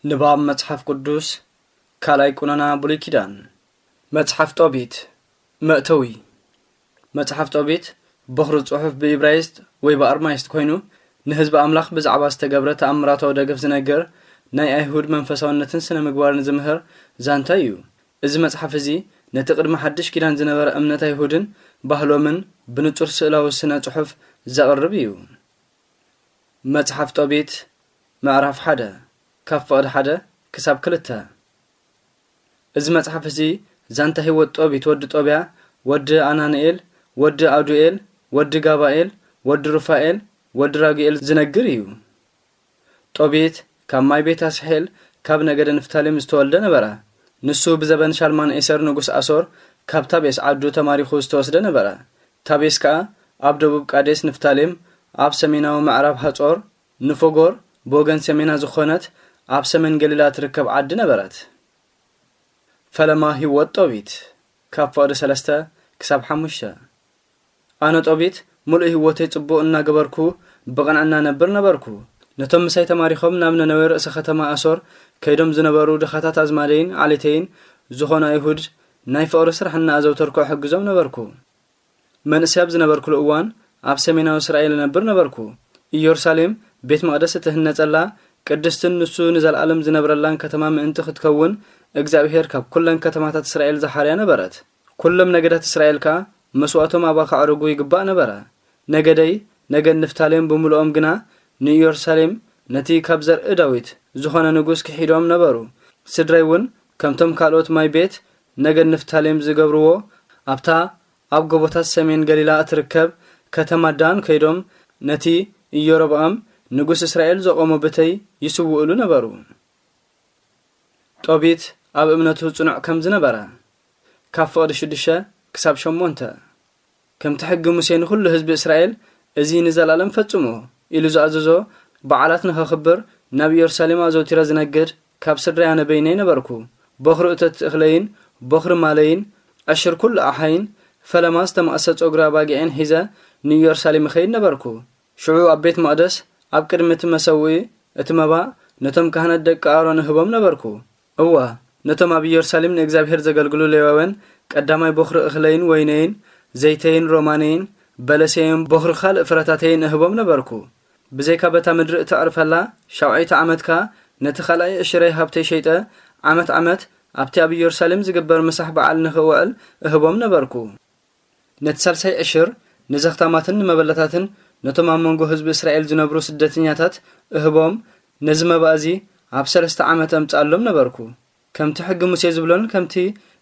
ንባብ መጽሓፍ ቅዱስ ካልኣይ ቁነና ብሉይ ኪዳን። መጽሓፍ ጦቢት። መእተዊ። መጽሓፍ ጦቢት በኹሪ ጽሑፍ ብኢብራይስጥ ወይ ብኣርማይስጥ ኮይኑ፣ ንህዝቢ ኣምላኽ ብዛዕባ ዝተገብረ ተኣምራታዊ ደገፍ ዝነግር፣ ናይ ኣይሁድ መንፈሳውነትን ስነ ምግባርን ዝምህር ዛንታ እዩ። እዚ መጽሓፍ እዚ ነቲ ቅድሚ ሓድሽ ኪዳን ዝነበረ እምነት ኣይሁድን ባህሎምን ብንጹር ስእላዊ ስነ ጽሑፍ ዘቕርብ እዩ። መጽሓፍ ጦቢት ምዕራፍ ሓደ፣ ካብ ፍቕዲ ሓደ ክሳብ ክልተ። እዚ መጽሓፍ እዚ ዛንታ ህይወት ጦቢት ወዲ ጦብያ፣ ወዲ ኣናንኤል፣ ወዲ ኣዱኤል፣ ወዲ ጋባኤል፣ ወዲ ሩፋኤል፣ ወዲ ራጉኤል ዝነግር እዩ። ጦቢት ካብ ማይ ቤት ኣስሔል ካብ ነገደ ንፍታሌም ዝተወልደ ነበረ። ንሱ ብዘበን ሻልማን ኤሰር ንጉስ ኣሶር ካብ ታቤስ ዓዱ ተማሪኹ ዝተወስደ ነበረ። ታቤስ ከኣ ኣብ ደቡብ ቃዴስ ንፍታሌም፣ ኣብ ሰሜናዊ ምዕራብ ሃጾር ንፎጎር ብወገን ሰሜና ዝኾነት ኣብ ሰሜን ገሊላ ትርከብ ዓዲ ነበረት። ፈለማ ህይወት ጦቢት ካብ ፍቕዲ ሰለስተ ክሳብ ሓሙሽተ። ኣነ ጦቢት ምሉእ ህይወተይ ጽቡቕ እናገበርኩ ብቕንዕና ነብር ነበርኩ። ነቶም ምሳይ ተማሪኾም ናብ ነነዌ ርእሰ ከተማ ኣሶር ከይዶም ዝነበሩ ድኻታት ኣዝማደይን ዓሌተይን ዝኾኑ ኣይሁድ ናይ ፍቕሪ ስራሕ እናኣዘውተርኩ እሕግዞም ነበርኩ። መንእሰይ ኣብ ዝነበርኩሉ እዋን ኣብ ሰሜናዊ እስራኤል እነብር ነበርኩ። ኢየሩሳሌም ቤት መቕደስ እትህነጸላ ቅድስትን ንሱ ንዘለኣለም ዝነብረላን ከተማ ምእንቲ ክትከውን እግዚኣብሔር ካብ ኩለን ከተማታት እስራኤል ዝሓርያ ነበረት። ኩሎም ነገዳት እስራኤል ከኣ መስዋእቶም ኣብኣ ከዕርጉ ይግባእ ነበረ። ነገደይ ነገድ ንፍታሌም ብምልኦም ግና ንኢየሩሳሌም ነቲ ካብ ዘርኢ ዳዊት ዝኾነ ንጉስ ክሒዶም ነበሩ። ስድራይ እውን ከምቶም ካልኦት ማይ ቤት ነገድ ንፍታሌም ዝገብርዎ ኣብታ ኣብ ጎቦታት ሰሜን ገሊላ እትርከብ ከተማ ዳን ከይዶም ነቲ ኢዮሮብዓም ንጉስ እስራኤል ዘቖሞ ብተይ ይስውእሉ ነበሩ። ጦቢት ኣብ እምነቱ ጽኑዕ ከም ዝነበረ ካብ ፍቕዲ ሽዱሽተ ክሳብ ሸሞንተ። ከምቲ ሕጊ ሙሴ ንኹሉ ህዝቢ እስራኤል እዚ ንዘላለም ፈጽሞ ኢሉ ዝኣዘዞ በዓላት ንኸኽብር ናብ ኢየሩሳሌም ኣዘውቲረ ዝነግድ ካብ ስድራይ ኣነ በይነይ ነበርኩ። በኹሪ እቶት እኽለይን በኹሪ ማለይን ዕሽር ኩሉ ኣሓይን ፈለማ ዝተማእሰ ጸጉሪ ኣባጊዕን ሒዘ ንኢየሩሳሌም እኸይድ ነበርኩ። ሽዑ ኣብ ቤት መቕደስ ኣብ ቅድሚ እቲ መሰውኢ እቲ መባእ ነቶም ካህናት ደቂ ኣሮን እህቦም ነበርኩ። እወ፣ ነቶም ኣብ ኢየሩሳሌም ንእግዚኣብሔር ዘገልግሉ ሌዋውያን ቀዳማይ በኹሪ እኽለይን ወይነይን ዘይተይን ሮማነይን በለሰይን በኹሪ ካልእ ፍረታተይን እህቦም ነበርኩ። ብዘይካ በታ ምድሪ እተዕርፈላ ሻውዓይቲ ዓመት ከኣ ነቲ ካልኣይ ዕሽረይ ሃብተይ ሸይጠ ዓመት ዓመት ኣብቲ ኣብ ኢየሩሳሌም ዝግበር ምሳሕ በዓል ንኽውዕል እህቦም ነበርኩ። ነቲ ሳልሳይ ዕሽር ንዘኽታማትን ንመበለታትን ነቶም ኣብ መንጎ ህዝቢ እስራኤል ዝነብሩ ስደተኛታት እህቦም፣ ነዚ መባእ እዚ ኣብ ሰለስተ ዓመት ኣምጽኣሎም ነበርኩ። ከምቲ ሕጊ ሙሴ ዝብሎን ከምቲ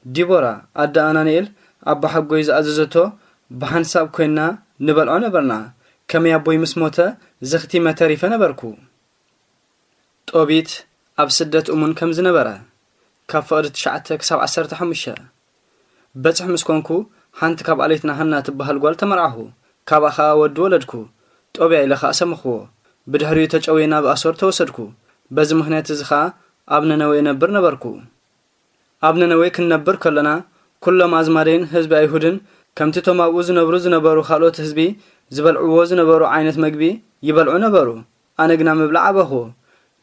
ዲቦራ ኣደ ኣናንኤል ኣቦሓጎይ ዝኣዘዘቶ ብሓንሳብ ኮይንና ንበልዖ ነበርና። ከመይ ኣቦይ ምስ ሞተ ዘኽቲመ ተሪፈ ነበርኩ። ጦቢት ኣብ ስደት እሙን ከም ዝነበረ ካብ ፍቕዲ ትሽዓተ ክሳብ ዓሰርተ ሓሙሽተ። በጽሕ ምስ ኮንኩ ሓንቲ ካብ ኣለይትና ሃና ትበሃል ጓል ተመርዓኹ። ካብኣ ኸኣ ወዲ ወለድኩ። ጦብያ ኢለ ኸኣ ሰመኽዎ። ብድሕሪኡ ተጨውየ ናብ ኣሶር ተወሰድኩ። በዚ ምኽንያት እዚ ኸኣ ኣብ ነነዌ እነብር ነበርኩ። ኣብ ነነዌ ክንነብር ከሎና ኩሎም ኣዝማደይን ህዝቢ ኣይሁድን ከምቲ እቶም ኣብኡ ዝነብሩ ዝነበሩ ካልኦት ህዝቢ ዝበልዕዎ ዝነበሩ ዓይነት መግቢ ይበልዑ ነበሩ። ኣነ ግና ምብላዕ ኣበኹ።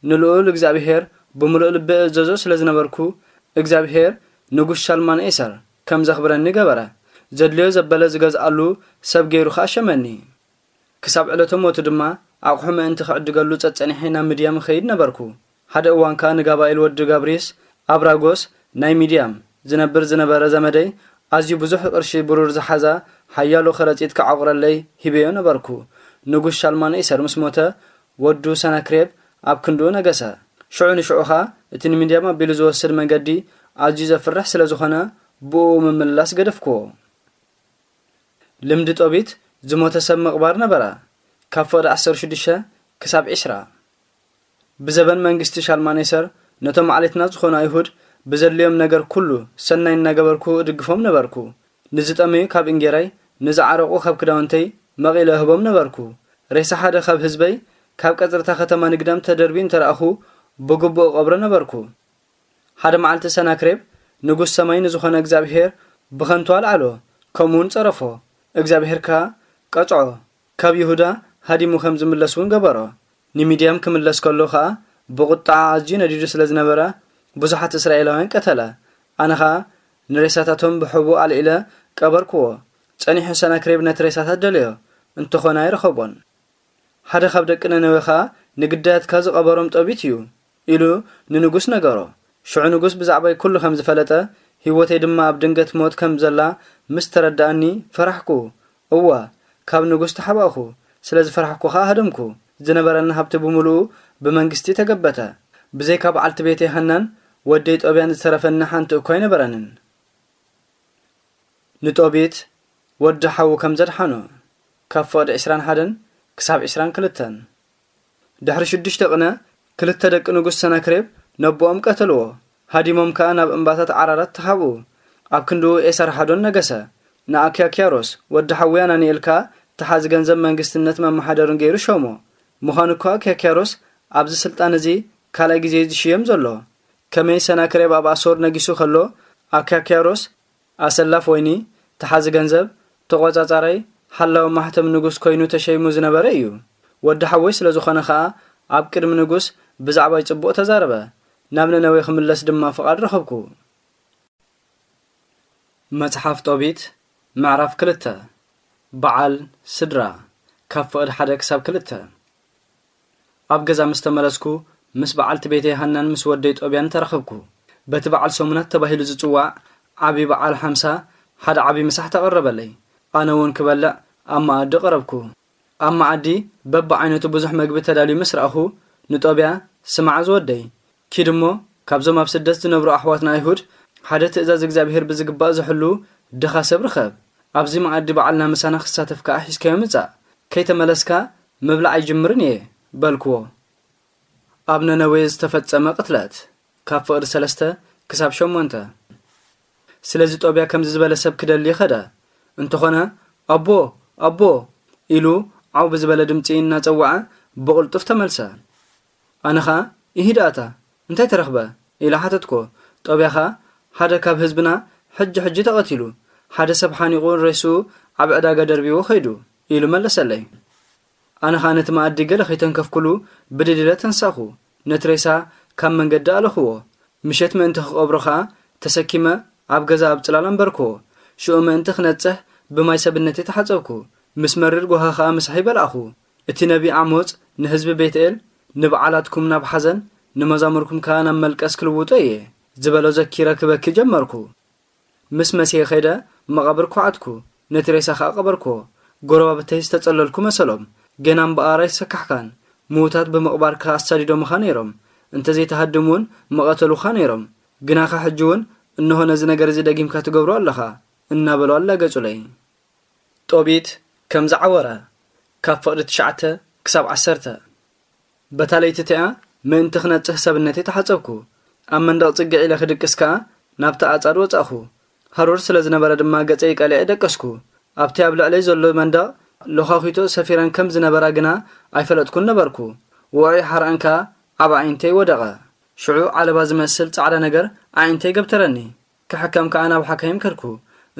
ንልኡል እግዚኣብሔር ብምሉእ ልቢ እእዘዞ ስለ ዝነበርኩ እግዚኣብሔር ንጉስ ሻልማን ኤሰር ከም ዘኽብረኒ ገበረ። ዘድልዮ ዘበለ ዝገዝኣሉ ሰብ ገይሩ ኸኣ ሸመኒ። ክሳብ ዕለተ ሞቱ ድማ ኣቑሑ ምእንቲ ክዕድገሉ ጸጸኒሐ ናብ ምድያም እኸይድ ነበርኩ። ሓደ እዋን ከኣ ንጋባኤል ወዲ ጋብሪስ ኣብ ራጎስ ናይ ምድያም ዝነብር ዝነበረ ዘመደይ ኣዝዩ ብዙሕ ቅርሺ ብሩር ዝሓዛ ሓያሎ ከረጺት ክዓቑረለይ ሂበዮ ነበርኩ። ንጉስ ሻልማን ኤሰር ምስ ሞተ ወዱ ሰናክሬብ ኣብ ክንድኡ ነገሰ። ሽዑ ንሽዑ ኸኣ እቲ ንምድያም ኣቢሉ ዝወስድ መንገዲ ኣዝዩ ዘፍርሕ ስለ ዝኾነ ብእኡ ምምልላስ ገደፍክዎ። ልምዲ ጦቢት ዝሞተ ሰብ ምቕባር ነበረ። ካብ ፍቕዲ ዓሰርተ ሽዱሽተ ክሳብ ዕስራ። ብዘበን መንግስቲ ሻልማኔሰር ነቶም ዓሌትና ዝኾኑ ኣይሁድ ብዘድልዮም ነገር ኩሉ ሰናይ እናገበርኩ እድግፎም ነበርኩ። ንዝጠመዩ ካብ እንጌራይ፣ ንዝዓረቑ ካብ ክዳውንተይ መቒለ እህቦም ነበርኩ። ሬሳ ሓደ ካብ ህዝበይ ካብ ቀጽርታ ከተማ ንግዳም ተደርብዩ እንተ ረኣኹ ብግቡእ እቐብሮ ነበርኩ። ሓደ መዓልቲ ሰናክሬብ ንጉስ ሰማይ ንዝኾነ እግዚኣብሔር ብኸንቱ ኣልዓሎ፣ ከምኡውን ጸረፎ። እግዚኣብሔር ከኣ ቀጽዖ፣ ካብ ይሁዳ ሃዲሙ ከም ዝምለስ እውን ገበሮ። ንምድያም ክምለስ ከሎ ኸኣ ብቑጥዓ ኣዝዩ ነዲዱ ስለ ዝነበረ፣ ብዙሓት እስራኤላውያን ቀተለ። ኣነ ኸኣ ንሬሳታቶም ብሕቡእ ኣልዒለ ቀበርክዎ። ጸኒሑ ሰናክሬብ ነቲ ሬሳታት ደለዮ፣ እንተኾነ ኣይረኸቦን። ሓደ ካብ ደቂ ነነዌ ኸኣ፣ "ንግዳያትካ ዝቐበሮም ጦቢት እዩ" ኢሉ ንንጉስ ነገሮ። ሽዑ ንጉስ ብዛዕባይ ኩሉ ከም ዝፈለጠ፣ ህይወተይ ድማ ኣብ ድንገት ሞት ከም ዘላ ምስ ተረድኣኒ ፈራሕኩ። እወ፣ ካብ ንጉስ ተሓባእኩ። ስለ ዝፈራሕኩ ኸኣ ሃደምኩ። ዝነበረኒ ሃብቲ ብምሉኡ ብመንግስቲ ተገበተ። ብዘይካ በዓልቲ ቤተይ ሃናን ወደይ ጦብያን ዝተረፈኒ ሓንቲ እኳ ኣይነበረንን። ንጦቢት ወዲ ሓዉ ከም ዘድሓኖ፣ ካብ ፍቕዲ ዕስራን ሓደን ክሳብ ዕስራን ክልተን። ድሕሪ ሽዱሽተ ቅነ፣ ክልተ ደቂ ንጉስ ሰናክሬብ ነቦኦም ቀተልዎ። ሃዲሞም ከኣ ናብ እምባታት ዓራራት ተሃብኡ። ኣብ ክንድኡ ኤሳርሃዶን ነገሰ። ንኣክያክያሮስ ወዲ ሓዊ ኣናንኤል ከኣ ተሓዚ ገንዘብ መንግስትነት መመሓደርን ገይሩ ሾሞ። ምዃኑ እኳ ኣክያክያሮስ ኣብዚ ስልጣን እዚ ካልኣይ ግዜ እዩ ዝሽየም ዘሎ። ከመይ ሰናክሬብ ኣብ ኣሶር ነጊሱ ከሎ፣ ኣክያክያሮስ ኣሰላፍ ወይኒ፣ ተሓዚ ገንዘብ፣ ተቖጻጻራይ፣ ሓላዊ ማሕተም ንጉስ ኮይኑ ተሸይሙ ዝነበረ እዩ። ወዲ ሓወይ ስለ ዝኾነ ኸኣ፣ ኣብ ቅድሚ ንጉስ ብዛዕባይ ጽቡቕ ተዛረበ። ናብ ነነዌ ክምለስ ድማ ፍቓድ ረኸብኩ። መጽሓፍ ጦቢት፣ ምዕራፍ ክልተ። በዓል ስድራ፣ ካብ ፍቕዲ ሓደ ክሳብ ክልተ። ኣብ ገዛ ምስ ተመለስኩ፣ ምስ በዓልቲ ቤተይ ሃናን ምስ ወደይ ጦብያን ተራኸብኩ። በቲ በዓል ሰሙናት ተባሂሉ ዝጽዋዕ ዓቢ በዓል ሓምሳ፣ ሓደ ዓቢ ምሳሕ ተቐረበለይ። ኣነ እውን ክበልዕ ኣብ መኣዲ ቀረብኩ። ኣብ መኣዲ በብዓይነቱ ብዙሕ መግቢ ተዳልዩ ምስ ረኣኹ፣ ንጦብያ፣ "ስማዕ ዝወደይ፣ ኪድ እሞ ካብዞም ኣብ ስደት ዝነብሩ ኣሕዋትና ኣይሁድ ሓደ ትእዛዝ እግዚኣብሄር ብዝግባእ ዝሕሉ ድኻ ሰብ ርኸብ። ኣብዚ መኣዲ በዓልና ምሳና ክሳተፍ ከኣ ሒዝካዮ ምጻእ። ከይተመለስካ ምብላዕ ኣይጅምርን እየ" በልክዎ። ኣብ ነነዌ ዝተፈጸመ ቅትለት፣ ካብ ፍቕዲ ሰለስተ ክሳብ ሸሞንተ። ስለዚ ጦብያ ከምዚ ዝበለ ሰብ ክደሊ ኸደ። እንተኾነ፣ "ኣቦ፣ ኣቦ" ኢሉ ዓው ብዝበለ ድምጺ እናጸውዐ ብቕልጡፍ ተመልሰ። ኣነ ኸኣ፣ "ኢሂድ ኣታ፣ እንታይ ተረኽበ?" ኢለ ሓተትኩ። ጦብያ ኸኣ፣ "ሓደ ካብ ህዝብና ሕጂ ሕጂ ተቐቲሉ፣ ሓደ ሰብ ሓኒቑ ሬስኡ ኣብ ዕዳጋ ደርቢዎ ኸይዱ" ኢሉ መለሰለይ። ኣነ ኸኣ ነቲ መኣዲ ገለ ከይተንከፍኩሉ ብድድ ኢለ ተንሳእኩ። ነቲ ሬሳ ካብ መንገዲ ኣለኽዎ። ምሸት ምእንቲ ክቐብሮ ኸኣ ተሰኪመ ኣብ ገዛ ኣብ ጽላል ኣንበርክዎ። ሽዑ ምእንቲ ክነጽህ ብማይ ሰብነተይ ተሓጸብኩ። ምስ መሪር ጓሂ ኸኣ ምሳሐይ በላዕኹ። እቲ ነቢ ኣሞጽ ንህዝቢ ቤትኤል፣ "ንበዓላትኩም ናብ ሓዘን፣ ንመዛሙርኩም ከኣ ናብ መልቀስ ክልውጦ እየ" ዝበሎ ዘኪረ ክበኪ ጀመርኩ። ምስ መሲሐ ከይደ መቓብር ኳዓትኩ፣ ነቲ ሬሳ ኸኣ ቀበርክዎ። ጎረባብተይ ዝተጸለልኩ መሰሎም። ገና እምበኣር ኣይሰካሕካን። ምዉታት ብምቕባርካ ኣሳዲዶምኻ ነይሮም። እንተ ዘይትሃድም እውን ምቐተሉኻ ነይሮም። ግናኸ ሕጂ እውን እንሆ ነዚ ነገር እዚ ደጊምካ ትገብሮ ኣለኻ፣ እናበሉ ኣላገጹለይ። ጦቢት ከም ዝዓወረ፣ ካብ ፍቕዲ ትሽዓተ ክሳብ ዓሰርተ። በታ ለይቲ እቲኣ ምእንቲ ክነጽህ ሰብነተይ ተሓጸብኩ። ኣብ መንደቕ ጽግዕ ኢለ ክድቅስ ከኣ ናብቲ ኣጻድ ወጻእኹ። ሃሩር ስለ ዝነበረ ድማ ገጸይ ቀሊዐ ደቀስኩ። ኣብቲ ኣብ ልዕለይ ዘሎ መንደቕ ሎኻኺቶ ሰፊረን ከም ዝነበራ ግና ኣይፈለጥኩን ነበርኩ። ውዑይ ሓርኣን ከኣ ኣብ ኣዒንተይ ወደቐ። ሽዑ ዓለባ ዝመስል ጻዕዳ ነገር ኣዒንተይ ገብተረኒ። ክሕከም ከኣ ናብ ሓካይም ከድኩ።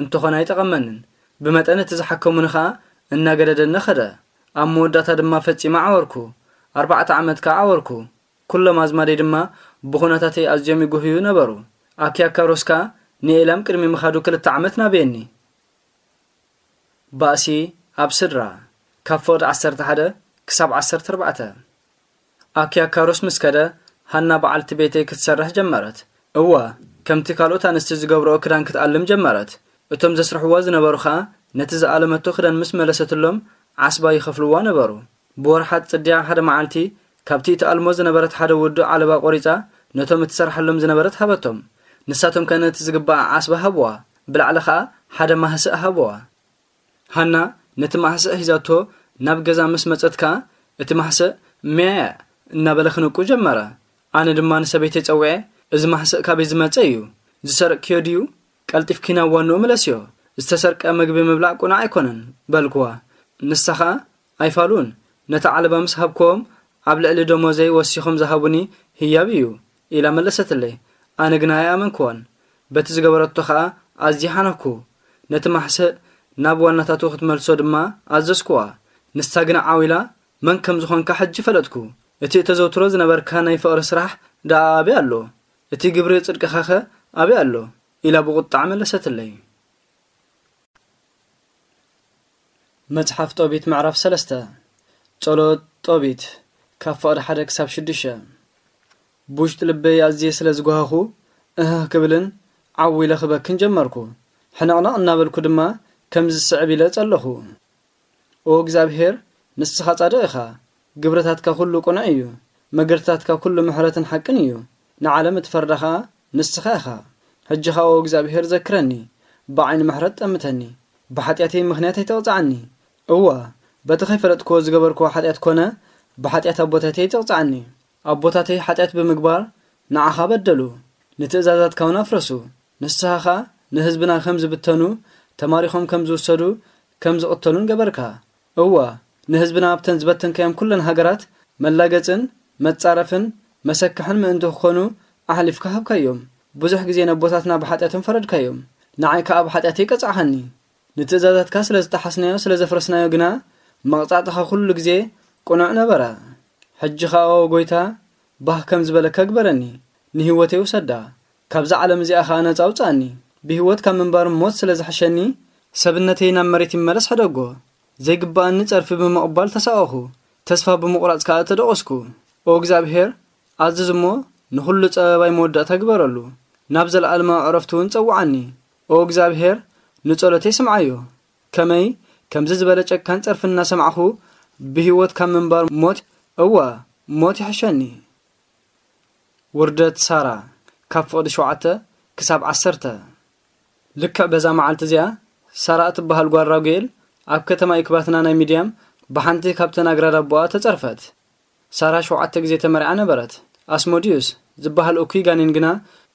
እንተኾነ ኣይጠቐመንን። ብመጠን እቲ ዝሓከሙኒ ከኣ እናገደደኒ ኸደ። ኣብ መወዳእታ ድማ ፈጺመ ዓወርኩ። ኣርባዕተ ዓመት ከኣ ዓወርኩ። ኩሎም ኣዝማደይ ድማ ብኹነታተይ ኣዝዮም ይጉህዩ ነበሩ። ኣኪያካሮስ ከኣ ንኤላም ቅድሚ ምኻዱ ክልተ ዓመት ናበየኒ። ባእሲ ኣብ ስድራ፣ ካብ ፍቕዲ ዓሰርተ ሓደ ክሳብ ዓሰርተ ኣርባዕተ። ኣኪያካሮስ ምስ ከደ፣ ሃና በዓልቲ ቤተይ ክትሰርሕ ጀመረት። እወ፣ ከምቲ ካልኦት ኣንስቲ ዝገብርኦ ክዳን ክትኣልም ጀመረት። እቶም ዘስርሕዋ ዝነበሩ ኸኣ ነቲ ዝኣለመቶ ክዳን ምስ መለሰትሎም፣ ዓስባ ይኸፍልዋ ነበሩ። ብወርሓት ጽድያ ሓደ መዓልቲ፣ ካብቲ እትኣልሞ ዝነበረት ሓደ ውዱእ ዓለባ ቆሪጻ፣ ነቶም እትሰርሓሎም ዝነበረት ሃበቶም። ንሳቶም ከ ነቲ ዝግባእ ዓስባ ሃብዋ። ብላዕሊ ኸኣ ሓደ ማህስእ ሃብዋ። ሃና ነቲ ማህስእ ሒዛቶ ናብ ገዛ ምስ መጸት ከኣ፣ እቲ ማህስእ "ሜዕ" እናበለ ክንቁ ጀመረ። ኣነ ድማ ንሰበይተይ ጸዊዐ፣ "እዚ ማህስእ ካበይ ዝመጸ እዩ? ዝሰርቅክዮ ድዩ? ቀልጢፍኪ ናብ ዋንኡ ምለስዮ። ዝተሰርቀ ምግቢ ምብላዕ ቅኑዕ ኣይኮነን" በልክዋ። ንሳ ኸኣ፣ "ኣይፋሉን፣ ነቲ ዓለባ ምስ ሃብክዎም፣ ኣብ ልዕሊ ደሞዘይ ወሲኾም ዝሃቡኒ ህያብ እዩ" ኢላ መለሰትለይ። ኣነ ግና ኣይኣመንክዋን። በቲ ዝገበረቶ ኸኣ ኣዝየ ሓነኽኩ። ነቲ ማሕስእ ናብ ዋናታቱ ክትመልሶ ድማ ኣዘዝክዋ። ንሳ ግና ዓው ኢላ፣ "መን ከም ዝኾንካ ሕጂ ፈለጥኩ" እቲ እተዘውትሮ ዝነበርካ ናይ ፍቕሪ ስራሕ ደኣ ኣበይ ኣሎ? እቲ ግብሪ ጽድቅኻኸ ኣበይ ኣሎ? ኢላ ብቑጥዓ መለሰትለይ። መጽሓፍ ጦቢት ምዕራፍ ሰለስተ። ጸሎት ጦቢት ካብ ፍቕዲ ሓደ ክሳብ ሽዱሽተ። ብውሽጢ ልበይ ኣዝየ ስለ ዝጓሃኹ፣ እህህ ክብልን ዓው ኢለ ክበክን ጀመርኩ። ሕንቕንቕ እናበልኩ ድማ ከምዚ ዝስዕብ ኢለ ጸለኹ። ኦ እግዚኣብሄር፣ ንስኻ ጻድቕ ኢኻ፣ ግብርታትካ ኩሉ ቅኑዕ እዩ፣ መገድታትካ ኩሉ ምሕረትን ሓቅን እዩ፣ ንዓለም እትፈርዳ ኸኣ ንስኻ ኢኻ። ሕጂ ኸኣ ኦ እግዚኣብሄር ዘክረኒ፣ ብዓይኒ ምሕረት ጠምተኒ፣ ብሓጢኣተይ ምኽንያት ኣይትቕጽዓኒ። እወ፣ በቲ ኸይፈለጥክዎ ዝገበርክዎ ሓጢኣት ኮነ፣ ብሓጢኣት ኣቦታተይ ኣይትቕጽዓኒ። ኣቦታተይ ሓጢኣት ብምግባር ንዓኻ በደሉ፣ ንትእዛዛትካ እውን ኣፍረሱ። ንስኻ ኸኣ ንህዝብና ከም ዝብተኑ፣ ተማሪኾም ከም ዝውሰዱ፣ ከም ዝቕተሉን ገበርካ። እወ፣ ንህዝብና ኣብተን ዝበተንካዮም ኩለን ሃገራት መላገጽን መጻረፍን መሰክሕን ምእንቲ ክኾኑ ኣሕሊፍካ ሃብካዮም። ብዙሕ ግዜ ነቦታትና ብሓጢኣቶም ፈረድካዮም፣ ንዓይ ከኣ ብሓጢኣተይ ቀጻዕኻኒ። ንትእዛዛትካ ስለ ዝጠሓስናዮ፣ ስለ ዘፍረስናዮ ግና፣ መቕጻዕትኻ ኩሉ ግዜ ቅኑዕ ነበረ። ሕጂ ኸኣ ኦ ጐይታ፣ ባህ ከም ዝበለካ ግበረኒ፣ ንህይወተይ ውሰዳ፣ ካብዛ ዓለም እዚኣ ኸኣ ነጻ ኣውጽኣኒ። ብህይወት ካብ ምንባር ሞት ስለ ዝሕሸኒ፣ ሰብነተይ ናብ መሬት ይመለስ ሕደጎ። ዘይግብኣኒ ጸርፊ ብምቕባል ተሳቐኹ፣ ተስፋ ብምቑራጽ ከኣ ተደቖስኩ። ኦ እግዚኣብሄር፣ ኣዝዝ እሞ ንኹሉ ጸበባይ መወዳእታ ግበረሉ፣ ናብ ዘለኣለማዊ ዕረፍቲ እውን ጸውዓኒ። ኦ እግዚኣብሄር፣ ንጸሎተይ ስምዓዮ። ከመይ ከምዚ ዝበለ ጨካን ጸርፊ እናሰማዕኹ ብህይወት ካብ ምንባር ሞት፣ እወ፣ ሞት ይሕሸኒ። ውርደት ሳራ፣ ካብ ፍቕዲ ሸውዓተ ክሳብ ዓሰርተ። ልክዕ በዛ መዓልቲ እዚኣ፣ ሳራ እትበሃል ጓል ራጉኤል ኣብ ከተማ ኢክባትና ናይ ሚድያም ብሓንቲ ካብተን ኣግራድ ኣቦኣ ተጸርፈት። ሳራ ሸውዓተ ግዜ ተመርዓ ነበረት። ኣስሞዲዩስ ዝበሃል እኩይ ጋኔን ግና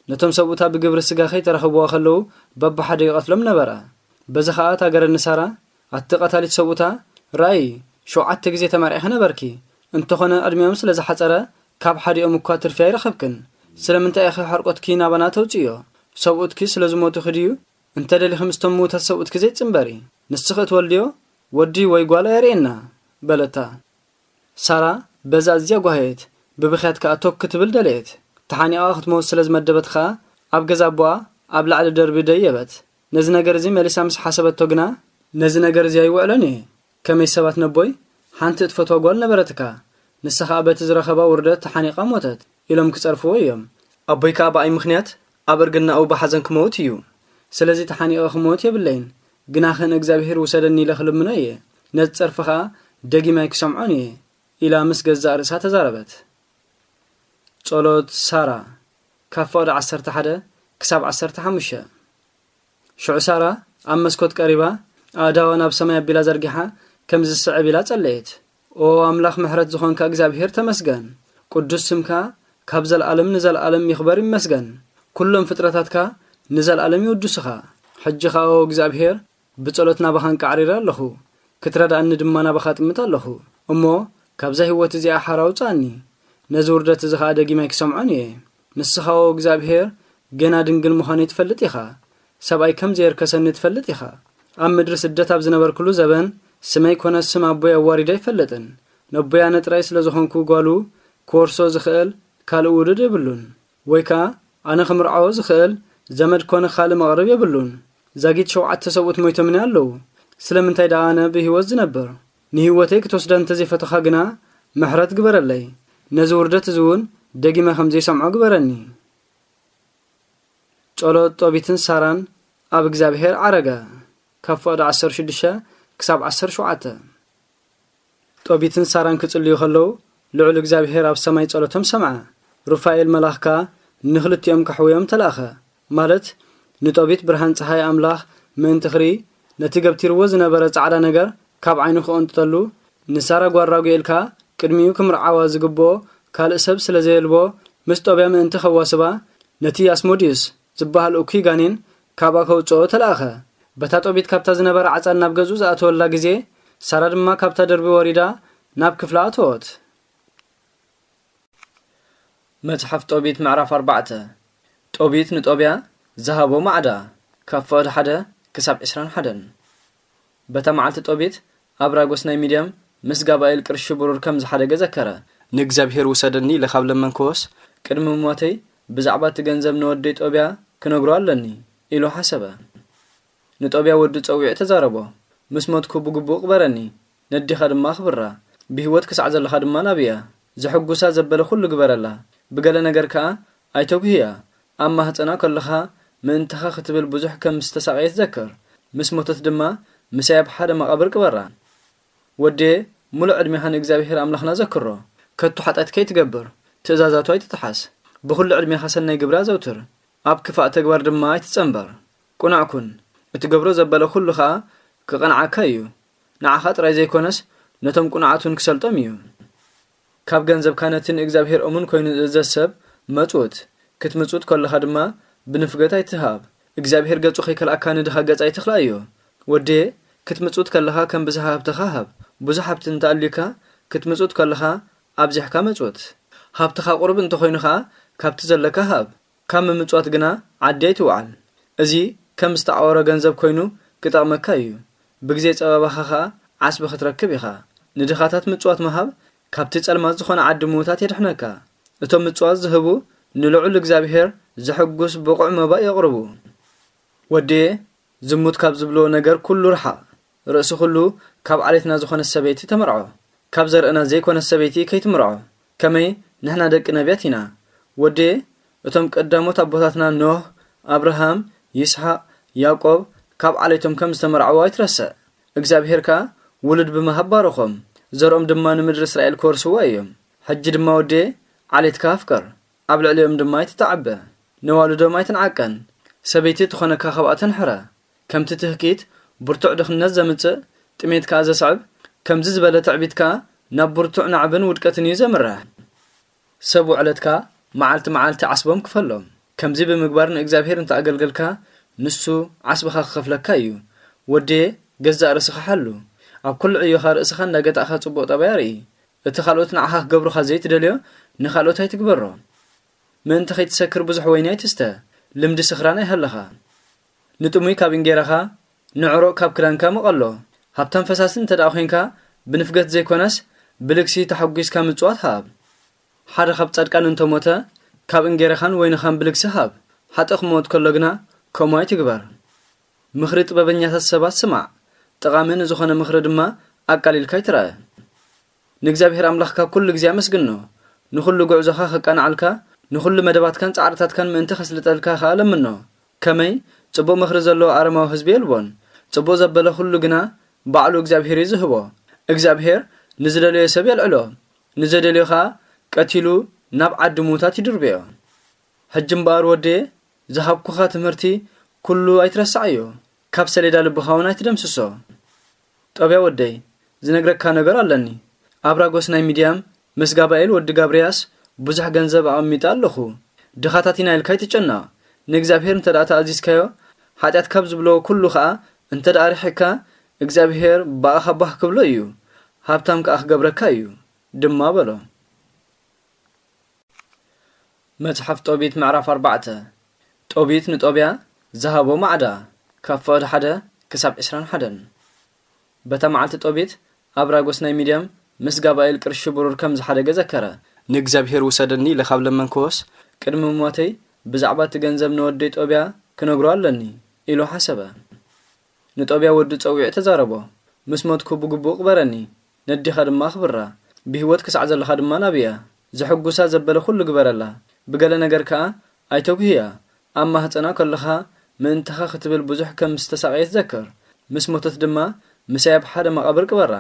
ነቶም ሰብኡታ ብግብሪ ስጋ ከይተረኸብዋ ከለዉ በብሓደ ይቐትሎም ነበረ። በዚ ኸኣ እታ ገረድ ንሳራ፣ ኣቲ ቀታሊት ሰብኡታ፣ ርኣዪ፣ ሸውዓተ ግዜ ተመርዒኺ ነበርኪ። እንተኾነ ዕድሚኦም ስለ ዝሓጸረ፣ ካብ ሓዲኦም እኳ ትርፊ ኣይረኸብክን። ስለምንታይ ኢኺ ሕርቆትኪ ናባና ተውጽእዮ? ሰብኡትኪ ስለ ዝሞቱኺ ድዩ? እንተ ደሊኺ ምስቶም ምዉታት ሰብኡትኪ ዘይትጽንበሪ። ንስኺ እትወልድዮ ወዲ ወይ ጓል ኣየርእየና፣ በለታ። ሳራ በዛ ኣዝያ ጓህየት፣ ብብኽያት ከኣ ቶክ ክትብል ደለየት። ተሓኒቓ ክትመውት ስለ ዝመደበት ኸኣ፣ ኣብ ገዛ ኣቦኣ ኣብ ላዕሊ ደርቢ ደየበት። ነዚ ነገር እዚ መሊሳ ምስ ሓሰበቶ ግና፣ ነዚ ነገር እዚ ኣይውዕሎን እየ። ከመይ ሰባት ነቦይ፣ ሓንቲ እትፈትዋ ጓል ነበረትካ፣ ንሳ ኸኣ በቲ ዝረኸባ ውርደት ተሓኒቓ ሞተት፣ ኢሎም ክጸርፍዎ እዮም። ኣቦይ ከኣ ብኣይ ምኽንያት ኣብ እርግናኡ ብሓዘን ክመውት እዩ። ስለዚ ተሓኒቐ ክመውት የብለይን፣ ግናኸ ንእግዚኣብሄር ውሰደኒ ኢለ ክልምኖ እየ። ነቲ ጸርፊ ኸኣ ደጊም ኣይክሰምዖን እየ፣ ኢላ ምስ ገዛእ ርእሳ ተዛረበት። ጸሎት ሳራ፣ ካብ ፍቕዲ ዓሰርተ ሓደ ክሳብ ዓሰርተ ሓሙሽተ። ሽዑ ሳራ ኣብ መስኮት ቀሪባ፣ ኣእዳዋ ናብ ሰማይ ኣቢላ ዘርጊሓ፣ ከምዚ ዝስዕብ ኢላ ጸለየት። ኦ ኣምላኽ ምሕረት ዝኾንካ እግዚኣብሄር ተመስገን። ቅዱስ ስምካ ካብ ዘለኣለም ንዘለኣለም ይኽበር ይመስገን። ኩሎም ፍጥረታትካ ንዘለኣለም ይውድሱኻ። ሕጂ ኸኣ ኦ እግዚኣብሄር፣ ብጸሎት ናባኻ ኣንቃዕሪረ ኣለኹ። ክትረድኣኒ ድማ ናባኻ እጥምት ኣለኹ። እሞ ካብዛ ህይወት እዚኣ ሓራ ኣውጽኣኒ። ነዚ ውርደት እዚ ኸኣ ደጊም ኣይክሰምዖን እየ። ንስኻ ኦ እግዚኣብሄር፣ ገና ድንግል ምዃነይ ትፈልጥ ኢኻ። ሰብኣይ ከም ዘየርከሰኒ ትፈልጥ ኢኻ። ኣብ ምድሪ ስደት ኣብ ዝነበርኩሉ ዘበን፣ ስመይ ኮነ ስም ኣቦይ ኣዋሪደ ኣይፈልጥን። ነቦይ ኣነ ጥራይ ስለ ዝኾንኩ ጓሉ ክወርሶ ዝኽእል ካልእ ውሉድ የብሉን። ወይ ከኣ ኣነ ክምርዓዎ ዝኽእል ዘመድ ኮነ ካልእ መቕርብ የብሉን። ዛጊት ሸውዓተ ሰብኡት ሞይቶምኒ ኣለዉ። ስለምንታይ ደኣ ኣነ ብህይወት ዝነብር? ንህይወተይ ክትወስዳ እንተ ዘይፈተኻ ግና፣ ምሕረት ግበረለይ። ነዚ ውርደት እዚ እውን ደጊመ ከም ዘይሰምዖ ግበረኒ። ጸሎት ጦቢትን ሳራን ኣብ እግዚኣብሔር ዓረገ። ካብ ፍቕዲ ዓሰርተ ሽዱሽተ ክሳብ ዓሰርተ ሸውዓተ። ጦቢትን ሳራን ክጽልዩ ከለዉ፣ ልዑል እግዚኣብሔር ኣብ ሰማይ ጸሎቶም ሰምዐ። ሩፋኤል መልኣኽ ከኣ ንኽልቲኦም ከሕውዮም ተላእኸ። ማለት፣ ንጦቢት ብርሃን ጸሓይ ኣምላኽ ምእንቲ ክርኢ፣ ነቲ ገብቲርዎ ዝነበረ ጻዕዳ ነገር ካብ ዓይኑ ክቕንጥጠሉ፣ ንሳራ ጓል ራጉኤል ከኣ ቅድሚኡ ክምርዓዋ ዝግብኦ ካልእ ሰብ ስለ ዘየልቦ፣ ምስ ጦብያ ምእንቲ ከዋስባ፣ ነቲ ኣስሞድዩስ ዝበሃል እኩይ ጋኔን ካብኣ ከውጽኦ ተላእኸ። በታ ጦቢት ካብታ ዝነበረ ዓጻን ናብ ገዝኡ ዝኣተወላ ግዜ፣ ሳራ ድማ ካብታ ደርቢ ወሪዳ ናብ ክፍላ ኣተወት። መጽሓፍ ጦቢት ምዕራፍ ኣርባዕተ። ጦቢት ንጦብያ ዝሃቦ ማዕዳ፣ ካብ ፍቕዲ ሓደ ክሳብ ዕስራን ሓደን። በታ መዓልቲ ጦቢት ኣብራጎስ ናይ ሚድያም ምስ ጋባኤል ቅርሺ ብሩር ከም ዝሓደገ ዘከረ። ንእግዚኣብሔር ውሰደኒ ኢለ ካብ ለመንክዎስ፣ ቅድሚ ሞተይ ብዛዕባ እቲ ገንዘብ ንወደይ ጦብያ ክነግሮ ኣለኒ ኢሉ ሓሰበ። ንጦብያ ወዱ ጸዊዑ ተዛረቦ። ምስ ሞትኩ ብግቡእ ቅበረኒ፣ ነዲኻ ድማ ኣኽብራ። ብህይወት ክሳዕ ዘለኻ ድማ ናብያ። ዘሐጉሳ ዘበለ ኩሉ ግበረላ። ብገለ ነገር ከኣ ኣይተጉህያ። ኣብ ማህጸና ከለኻ ምእንታኻ ክትብል ብዙሕ ከም ዝተሳቐየት ዘክር። ምስ ሞተት ድማ ምሳይ ኣብ ሓደ መቓብር ቅበራ። ወዴ፣ ምሉእ ዕድሜኻ ንእግዚኣብሔር ኣምላኽና ዘክሮ። ከቶ ሓጢኣት ከይትገብር፣ ትእዛዛቱ ኣይትጥሓስ። ብኹሉ ዕድሜኻ ሰናይ ግብሪ ኣዘውትር፣ ኣብ ክፋእ ተግባር ድማ ኣይትጸንበር። ቅኑዕ ኩን፣ እትገብሮ ዘበለ ኩሉ ኸኣ ክቐንዓካ እዩ። ንዓኻ ጥራይ ዘይኮነስ፣ ነቶም ቅኑዓት እውን ክሰልጦም እዩ። ካብ ገንዘብካ ነቲ ንእግዚኣብሔር እሙን ኮይኑ ዝእዘዝ ሰብ መጽውት። ክትምጽውት ከለኻ ድማ ብንፍገት ኣይትሃብ። እግዚኣብሔር ገጹ ከይከልኣካ ንድኻ ገጽ ኣይትኽልኣዮ። ወዴ፣ ክትምጽውት ከለኻ ከም ብዝሃ ሃብትኻ ሃብ። ብዙሕ ሃብቲ እንተኣልዩካ፣ ክትምጽውት ከለኻ ኣብዚሕካ መጽውት። ሃብትኻ ቁሩብ እንተኾይኑ ኸኣ፣ ካብቲ ዘለካ ሃብ። ካብ ምምጽዋት ግና ዓዲ ኣይትውዓል። እዚ ከም ዝተዓወረ ገንዘብ ኮይኑ ክጠቕመካ እዩ። ብግዜ ጸበባኻ ኸኣ ዓስቢ ክትረክብ ኢኻ። ንድኻታት ምጽዋት ምሃብ ካብቲ ጸልማት ዝኾነ ዓዲ ምዉታት የድሕነካ። እቶም ምጽዋት ዝህቡ ንልዑል እግዚኣብሔር ዘሐጉስ ብቑዕ መባእ የቕርቡ። ወድየ፣ ዝሙት ካብ ዝብልዎ ነገር ኩሉ ርሓቕ። ርእሲ ኩሉ ካብ ዓሌትና ዝኾነት ሰበይቲ ተመርዖ። ካብ ዘርእና ዘይኮነት ሰበይቲ ከይትምርዖ። ከመይ ንሕና ደቂ ነቢያት ኢና። ወድየ፣ እቶም ቀዳሞት ኣቦታትና ኖህ፣ ኣብርሃም፣ ይስሓቅ፣ ያዕቆብ ካብ ዓሌቶም ከም ዝተመርዐዎ ኣይትረስዕ። እግዚኣብሔር ከኣ ውሉድ ብምሃብ ባረኾም፣ ዘርኦም ድማ ንምድሪ እስራኤል ክወርስዋ እዮም። ሕጂ ድማ ወድየ፣ ዓሌትካ ኣፍቅር፣ ኣብ ልዕሊኦም ድማ ኣይትተዓበ፣ ነዋልዶም ኣይትንዓቀን። ሰበይቲ ትኾነካ ካብኣተን ሕረ። ከምቲ ትህኪት ብርቱዕ ድኽነት ዘምጽእ፣ ጥሜት ከኣ ዘስዕብ፣ ከምዚ ዝበለ ትዕቢት ከኣ ናብ ብርቱዕ ናዕብን ውድቀትን እዩ ዘምርሕ። ሰብ ውዕለትካ መዓልቲ መዓልቲ ዓስቦም ክፈሎም። ከምዚ ብምግባር ንእግዚኣብሔር እንተ ኣገልገልካ፣ ንሱ ዓስብኻ ክኸፍለካ እዩ። ወድየ፣ ገዛእ ርእስኻ ሓሉ። ኣብ ኩሉ ዕዮኻ ርእስኻ እንዳገታእኻ ጽቡቕ ጠባይ ኣርኢ። እቲ ካልኦት ንዓኻ ክገብሩኻ ዘይትደልዮ፣ ንኻልኦት ኣይትግበሮ። ምእንቲ ከይትሰክር ብዙሕ ወይኒ ኣይትስተ፣ ልምዲ ስኽራን ኣይሃልኻ። ንጥሙይ ካብ እንጌራኻ፣ ንዕሩቕ ካብ ክዳንካ ምቐሎ። ሃብታም ፈሳሲ እንተ ደኣ ኾይንካ፣ ብንፍገት ዘይኮነስ፣ ብልግሲ ተሓጒስካ ምጽዋት ሃብ። ሓደ ካብ ጻድቃን እንተ ሞተ፣ ካብ እንጌራኻን ወይንኻን ብልግሲ ሃብ። ሓጥእ ክመውት ከሎ ግና፣ ከምኡ ኣይትግበር። ምኽሪ ጥበበኛታት ሰባት ስማዕ፣ ጠቓሚ ንዝኾነ ምኽሪ ድማ ኣቃሊልካ ኣይትርኣ። ንእግዚኣብሔር ኣምላኽካ ኩሉ ግዜ ኣመስግኖ። ንኹሉ ጉዕዞኻ ከቃንዓልካ፣ ንኹሉ መደባትካን ጻዕርታትካን ምእንቲ ከስልጠልካ ኸኣ ለምኖ። ከመይ ጽቡቕ ምኽሪ ዘለዎ ኣረማዊ ህዝቢ የልቦን። ጽቡቕ ዘበለ ኩሉ ግና ባዕሉ እግዚኣብሔር እዩ ዝህቦ። እግዚኣብሔር ንዝደለዮ ሰብ የልዕሎ፣ ንዘደልዮ ኸኣ ቀቲሉ ናብ ዓዲ ምዉታት ይድርብዮ። ሕጂ እምበኣር ወደየ፣ ዝሃብኩኻ ትምህርቲ ኩሉ ኣይትረስዓዮ፣ ካብ ሰሌዳ ልብኻ እውን ኣይትደምስሶ። ጦብያ ወደይ፣ ዝነግረካ ነገር ኣለኒ። ኣብራጎስ ናይ ሚድያም ምስ ጋባኤል ወዲ ጋብርያስ ብዙሕ ገንዘብ ኣቐሚጠ ኣለኹ። ድኻታት ኢና ኢልካ ኣይትጨነቕ። ንእግዚኣብሔር እንተ ደኣ ተኣዚዝካዮ፣ ሓጢኣት ካብ ዝብሎ ኩሉ ኸኣ እንተ ደኣ ርሒቕካ፣ እግዚኣብሔር ብኣኻ ባህ ክብሎ እዩ፣ ሃብታም ከኣ ክገብረካ እዩ ድማ በሎ። መጽሓፍ ጦቢት ምዕራፍ ኣርባዕተ። ጦቢት ንጦብያ ዝሃቦ ማዕዳ፣ ካብ ፍቕዲ ሓደ ክሳብ ዕስራን ሓደን። በታ መዓልቲ ጦቢት ኣብራጎስ ናይ ሚድያም ምስ ጋባኤል ቅርሺ ብሩር ከም ዝሓደገ ዘከረ። ንእግዚኣብሔር ውሰደኒ ኢለ ካብ ለመንክዎስ፣ ቅድሚ ሞተይ ብዛዕባ እቲ ገንዘብ ንወደይ ጦብያ ክነግሮ ኣለኒ ኢሉ ሓሰበ። ንጦብያ ወዱ ጸዊዑ ተዛረቦ። ምስ ሞትኩ ብግቡእ ቅበረኒ፣ ነዲኻ ድማ ኣኽብራ። ብህይወት ክሳዕ ዘለኻ ድማ ናብያ። ዘሐጉሳ ዘበለ ኩሉ ግበረላ። ብገለ ነገር ከኣ ኣይተጉህያ። ኣብ ማህጸና ከለኻ ምእንታኻ ክትብል ብዙሕ ከም ዝተሳቐየት ዘክር። ምስ ሞተት ድማ ምሳይ ኣብ ሓደ መቓብር ቅበራ።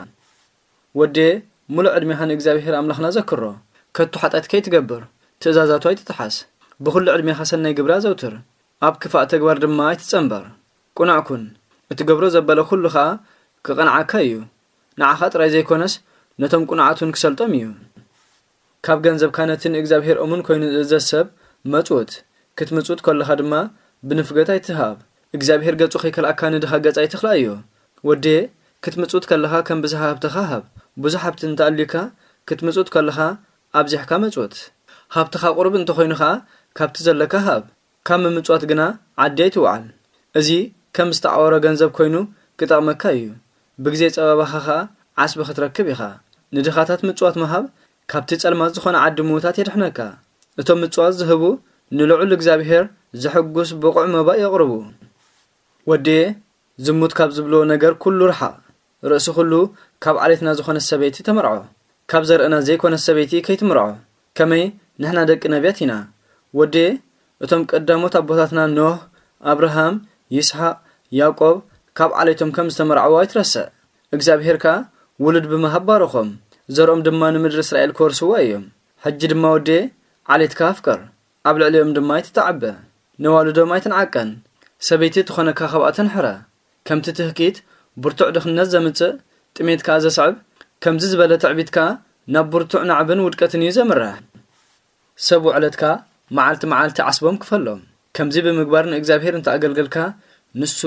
ወድየ፣ ምሉእ ዕድሜኻ ንእግዚኣብሔር ኣምላኽና ዘክሮ። ከቶ ሓጢኣት ከይትገብር፣ ትእዛዛቱ ኣይትጥሓስ። ብኹሉ ዕድሜኻ ሰናይ ግብሪ ኣዘውትር። ኣብ ክፋእ ተግባር ድማ ኣይትጸንበር። ቅኑዕ ኩን። እትገብሮ ዘበለ ኩሉ ኸኣ ክቐንዓካ እዩ። ንዓኻ ጥራይ ዘይኮነስ፣ ነቶም ቅኑዓት እውን ክሰልጦም እዩ። ካብ ገንዘብካ ነቲ ንእግዚኣብሔር እሙን ኮይኑ ዝእዘዝ ሰብ መጽውት። ክትምጽውት ከለኻ ድማ ብንፍገት ኣይትሃብ። እግዚኣብሔር ገጹ ከይከልኣካ ንድኻ ገጽ ኣይትኽልኣዮ። ወድየ፣ ክትምጽውት ከለኻ ከም ብዝሃ ሃብትኻ ሃብ። ብዙሕ ሃብቲ እንተኣልዩካ፣ ክትምጽውት ከለኻ ኣብዚሕካ መጽውት። ሃብትኻ ቁሩብ እንተኾይኑ ኸኣ ካብቲ ዘለካ ሃብ። ካብ ምምጽዋት ግና ዓዲ ኣይትውዓል። እዚ ከም ዝተዓወረ ገንዘብ ኮይኑ ክጠቕመካ እዩ። ብግዜ ጸበባኻ ኸኣ ዓስቢ ክትረክብ ኢኻ። ንድኻታት ምጽዋት ምሃብ ካብቲ ጸልማት ዝኾነ ዓዲ ምዉታት የድሕነካ። እቶም ምጽዋት ዝህቡ ንልዑል እግዚኣብሔር ዘሐጉስ ብቑዕ መባእ የቕርቡ። ወድየ፣ ዝሙት ካብ ዝብልዎ ነገር ኩሉ ርሓቕ። ርእሲ ኩሉ ካብ ዓሌትና ዝኾነት ሰበይቲ ተመርዖ። ካብ ዘርእና ዘይኮነት ሰበይቲ ከይትምርዖ። ከመይ ንሕና ደቂ ነቢያት ኢና። ወድየ፣ እቶም ቀዳሞት ኣቦታትና ኖህ፣ ኣብርሃም፣ ይስሓቅ፣ ያዕቆብ ካብ ዓሌቶም ከም ዝተመርዓዉ ኣይትረስዕ። እግዚኣብሔር ከኣ ውሉድ ብምሃብ ባረኾም። ዘርኦም ድማ ንምድሪ እስራኤል ክወርስዋ እዮም። ሕጂ ድማ ወድየ፣ ዓሌትካ ኣፍቅር። ኣብ ልዕሊኦም ድማ ኣይትተዓበ። ነዋልዶም ኣይትንዓቀን። ሰበይቲ ትኾነካ ካብኣተን ሕረ። ከምቲ ትህኪት ብርቱዕ ድኽነት ዘምጽእ፣ ጥሜት ከኣ ዘስዕብ፣ ከምዚ ዝበለ ትዕቢት ከኣ ናብ ብርቱዕ ናዕብን ውድቀትን እዩ ዘምርሕ። ሰብ ውዕለትካ መዓልቲ መዓልቲ ዓስቦም ክፈሎም። ከምዚ ብምግባር ንእግዚኣብሔር እንተ ኣገልገልካ፣ ንሱ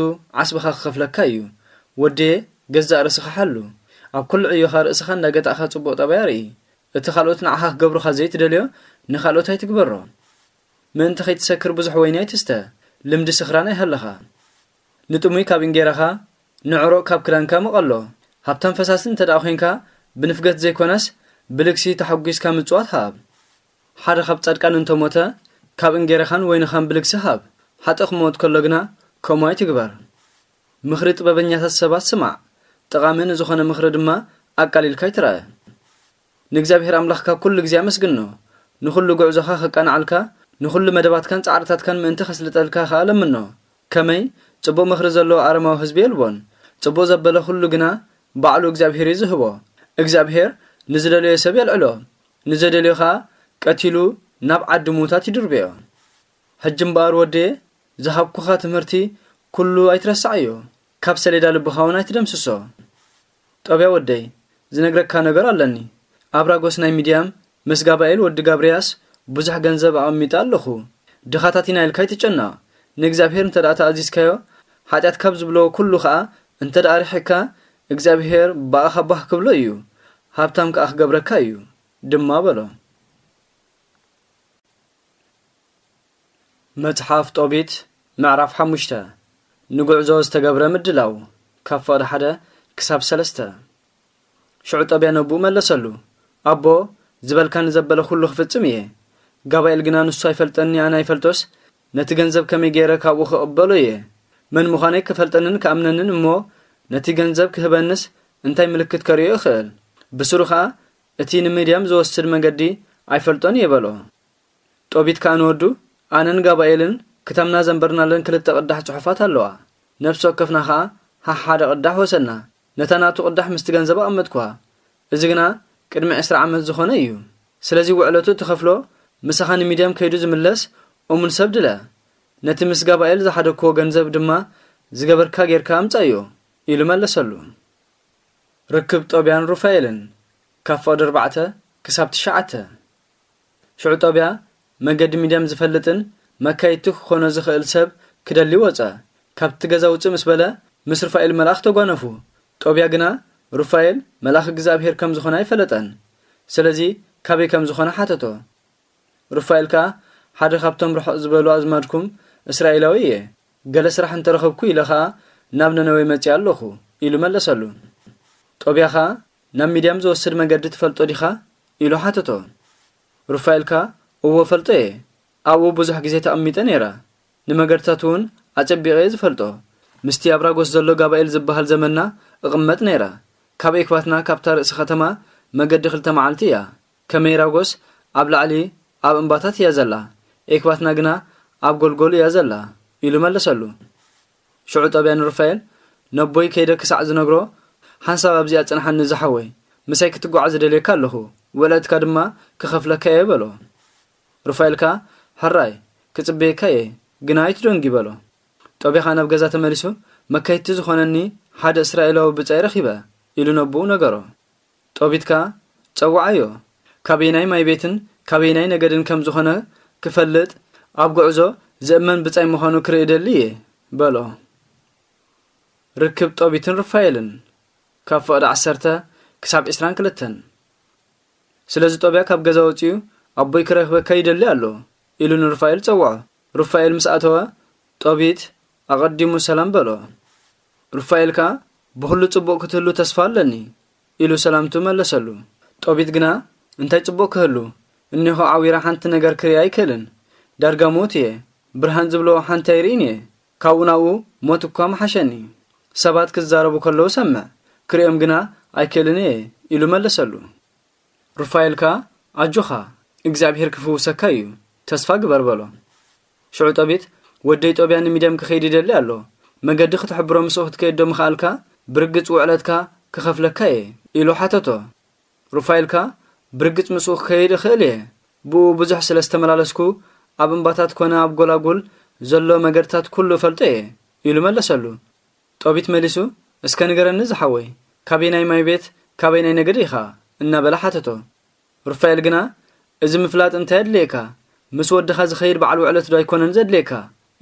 ዓስብኻ ክኸፍለካ እዩ። ወድየ፣ ገዛእ ርእስኻ ሓሉ። ኣብ ኩሉ ዕዮኻ ርእስኻ እንዳገታእካ ጽቡቕ ጠባይ ኣርኢ። እቲ ካልኦት ንዓኻ ክገብሩኻ ዘይትደልዮ፣ ንኻልኦት ኣይትግበሮ። ምእንቲ ከይትሰክር ብዙሕ ወይኒ ኣይትስተ፣ ልምዲ ስኽራን ኣይሃልኻ። ንጥሙይ ካብ እንጌራኻ፣ ንዕሩቕ ካብ ክዳንካ ምቐሎ። ሃብታም ፈሳሲ እንተ ደኣ ኾይንካ፣ ብንፍገት ዘይኮነስ፣ ብልግሲ ተሓጒስካ ምጽዋት ሃብ። ሓደ ካብ ጻድቃን እንተ ሞተ፣ ካብ እንጌራኻን ወይንኻን ብልግሲ ሃብ። ሓጥእ ክመውት ከሎ ግና፣ ከምኡ ኣይትግበር። ምኽሪ ጥበበኛታት ሰባት ስማዕ፣ ጠቓሚ ንዝኾነ ምኽሪ ድማ ኣቃሊልካ ኣይትርኣ። ንእግዚኣብሔር ኣምላኽካ ኩሉ ግዜ ኣመስግኖ። ንኹሉ ጉዕዞኻ ከቃንዓልካ፣ ንኹሉ መደባትካን ጻዕርታትካን ምእንቲ ከስልጠልካ ኸኣ ለምኖ። ከመይ ጽቡቕ ምኽሪ ዘለዎ ኣረማዊ ህዝቢ የልቦን። ጽቡቕ ዘበለ ኩሉ ግና ባዕሉ እግዚኣብሔር እዩ ዝህቦ። እግዚኣብሔር ንዝደለዮ ሰብ የልዕሎ፣ ንዘደልዮ ኸኣ ቀቲሉ ናብ ዓዲ ምዉታት ይድርብዮ። ሕጂ እምበኣር ወደየ፣ ዝሃብኩኻ ትምህርቲ ኩሉ ኣይትረስዓዮ፣ ካብ ሰሌዳ ልብኻ እውን ኣይትደምስሶ። ጦብያ ወደይ፣ ዝነግረካ ነገር ኣለኒ። ኣብራጎስ ናይ ሚድያም ምስ ጋባኤል ወዲ ጋብርያስ ብዙሕ ገንዘብ ኣቐሚጠ ኣለኹ። ድኻታት ኢና ኢልካ ኣይትጨነቕ። ንእግዚኣብሔር እንተ ደኣ ተኣዚዝካዮ፣ ሓጢኣት ካብ ዝብሎ ኩሉ ኸኣ እንተ ደኣ ርሒቕካ፣ እግዚኣብሔር ብኣኻ ባህ ክብሎ እዩ፣ ሃብታም ከኣ ክገብረካ እዩ ድማ በሎ። መጽሓፍ ጦቢት ምዕራፍ ሓሙሽተ። ንጉዕዞ ዝተገብረ ምድላው፣ ካብ ፍቕዲ ሓደ ክሳብ ሰለስተ። ሽዑ ጦብያ ነቦኡ መለሰሉ፣ ኣቦ፣ ዝበልካኒ ዘበለ ኩሉ ክፍጽም እየ። ጋባኤል ግና ንሱ ኣይፈልጠኒ ኣነ ኣይፈልጦስ፣ ነቲ ገንዘብ ከመይ ገይረ ካብኡ ክቕበሎ እየ? መን ምዃነይ ክፈልጠንን ክኣምነንን እሞ፣ ነቲ ገንዘብ ክህበንስ እንታይ ምልክት ከርእዮ እኽእል? ብስሩ ኸኣ እቲ ንምድያም ዝወስድ መገዲ ኣይፈልጦን እየ በሎ። ጦቢት ከኣ ንወዱ፣ ኣነን ጋባኤልን ክታምና ዘንበርናለን ክልተ ቅዳሕ ጽሑፋት ኣለዋ። ነፍሲ ወከፍና ኸኣ ሓሓደ ቅዳሕ ወሰድና። ነታ ናቱ ቅዳሕ ምስቲ ገንዘብ ኣቐመጥኩዋ። እዚ ግና ቅድሚ ዕስራ ዓመት ዝኾነ እዩ። ስለዚ ውዕለቱ እትኸፍሎ፣ ምሳኻ ንሚድያም ከይዱ ዝምለስ እሙን ሰብ ድለ። ነቲ ምስ ጋባኤል ዝሓደግክዎ ገንዘብ ድማ ዝገበርካ ጌርካ ኣምጻዮ፣ ኢሉ መለሰሉ። ርክብ ጦብያን ሩፋኤልን፣ ካብ ፍቕዲ ኣርባዕተ ክሳብ ትሽዓተ። ሽዑ ጦብያ መገዲ ሚድያም ዝፈልጥን መካይድቲ ክኾኖ ዝኽእል ሰብ ክደሊ ወጸ። ካብቲ ገዛ ውጽእ ምስ በለ፣ ምስ ሩፋኤል መልኣኽ ተጓነፉ። ጦብያ ግና ሩፋኤል መልኣኽ እግዚኣብሔር ከም ዝኾነ ኣይፈለጠን። ስለዚ ካበይ ከም ዝኾነ ሓተቶ። ሩፋኤል ከኣ፣ ሓደ ካብቶም ርሕቕ ዝበሉ ኣዝማድኩም እስራኤላዊ እየ። ገለ ስራሕ እንተረኸብኩ ኢለ ኸኣ ናብ ነነዌ መጺኣ ኣለኹ፣ ኢሉ መለሰሉ። ጦብያ ኸኣ፣ ናብ ሚድያም ዝወስድ መገዲ ትፈልጦ ዲኻ? ኢሉ ሓተቶ። ሩፋኤል ከኣ፣ እወ እፈልጦ እየ። ኣብኡ ብዙሕ ግዜ ተቐሚጠ ነይረ። ንመገድታት እውን ኣጸቢቐ እየ ዝፈልጦ። ምስቲ ኣብራጎስ ዘሎ ጋባኤል ዝበሃል ዘመድና እቕመጥ ነይረ። ካብ ኤክባትና ካብታ ርእሲ ከተማ መገዲ ክልተ መዓልቲ እያ። ከመይ ራጎስ ኣብ ላዕሊ ኣብ እምባታት እያ ዘላ፣ ኤክባትና ግና ኣብ ጎልጎል እያ ዘላ፣ ኢሉ መለሰሉ። ሽዑ ጦብያ ንሩፋኤል፣ ነቦይ ከይደ ክሳዕ ዝነግሮ፣ ሓንሳብ ኣብዚኣ ጽንሓኒ ዝሓወይ፣ ምሳይ ክትጓዓዝ እደልየካ ኣለኹ፣ ውዕለትካ ድማ ክኸፍለካ እየ በሎ። ሩፋኤል ከኣ፣ ሕራይ፣ ክጽበየካ እየ፣ ግና ኣይትደንጊ በሎ። ጦብያ ከኣ ናብ ገዛ ተመሊሱ፣ መካይድቲ ዝኾነኒ ሓደ እስራኤላዊ ብጻይ ረኺበ፣ ኢሉ ነቦኡ ነገሮ። ጦቢት ከኣ፣ ጸውዓዮ፣ ካበየናይ ማይ ቤትን ካበየናይ ነገድን ከም ዝኾነ ክፈልጥ፣ ኣብ ጉዕዞ ዝእመን ብጻይ ምዃኑ ክርኢ እደሊ እየ፣ በሎ። ርክብ ጦቢትን ሩፋኤልን፣ ካብ ፍቕዲ ዓሰርተ ክሳብ ዕስራን ክልተን። ስለዚ ጦብያ ካብ ገዛ ወጺኡ፣ ኣቦይ ክረኽበካ ይደሊ ኣሎ፣ ኢሉ ንሩፋኤል ጸውዖ። ሩፋኤል ምስ ኣተወ፣ ጦቢት ኣቐዲሙ ሰላም በሎ። ሩፋኤል ከኣ፣ ብኹሉ ጽቡቕ ክትህሉ ተስፋ ኣለኒ፣ ኢሉ ሰላምቱ መለሰሉ። ጦቢት ግና፣ እንታይ ጽቡቕ ክህሉ? እኒሆ ዓዊራ ሓንቲ ነገር ክርኢ ኣይክእልን። ዳርጋ ምዉት እየ። ብርሃን ዝብሎ ሓንቲ ኣይርእን እየ። ካብኡ ናብኡ ሞት እኳ ምሓሸኒ። ሰባት ክዛረቡ ከለዉ ሰምዕ፣ ክርእዮም ግና ኣይክእልን እየ ኢሉ መለሰሉ። ሩፋኤል ከኣ ኣጆኻ፣ እግዚኣብሄር ክፍውሰካ እዩ፣ ተስፋ ግበር በሎ። ሽዑ ጦቢት፣ ወደይ ጦብያ ንሚድያም ክኸይድ ይደሊ ኣሎ፣ መገዲ ክትሕብሮ ምስኡ ክትከይድ ዶ ምኽኣልካ? ብርግጽ ውዕለትካ ክኸፍለካ እየ ኢሉ ሓተቶ። ሩፋኤል ከኣ ብርግጽ ምስኡ ክኸይድ እኽእል እየ፣ ብኡ ብዙሕ ስለ ዝተመላለስኩ ኣብ እምባታት ኮነ ኣብ ጎላጉል ዘሎ መገድታት ኩሉ እፈልጦ እየ ኢሉ መለሰሉ። ጦቢት መሊሱ፣ እስከ ንገረኒ ዝሓወይ፣ ካበየናይ ማይ ቤት፣ ካበየናይ ነገድ ኢኻ? እናበለ ሓተቶ። ሩፋኤል ግና፣ እዚ ምፍላጥ እንታይ ኣድልየካ? ምስ ወድኻ ዝኸይድ በዓል ውዕለት ዶ ኣይኮነን ዘድልየካ?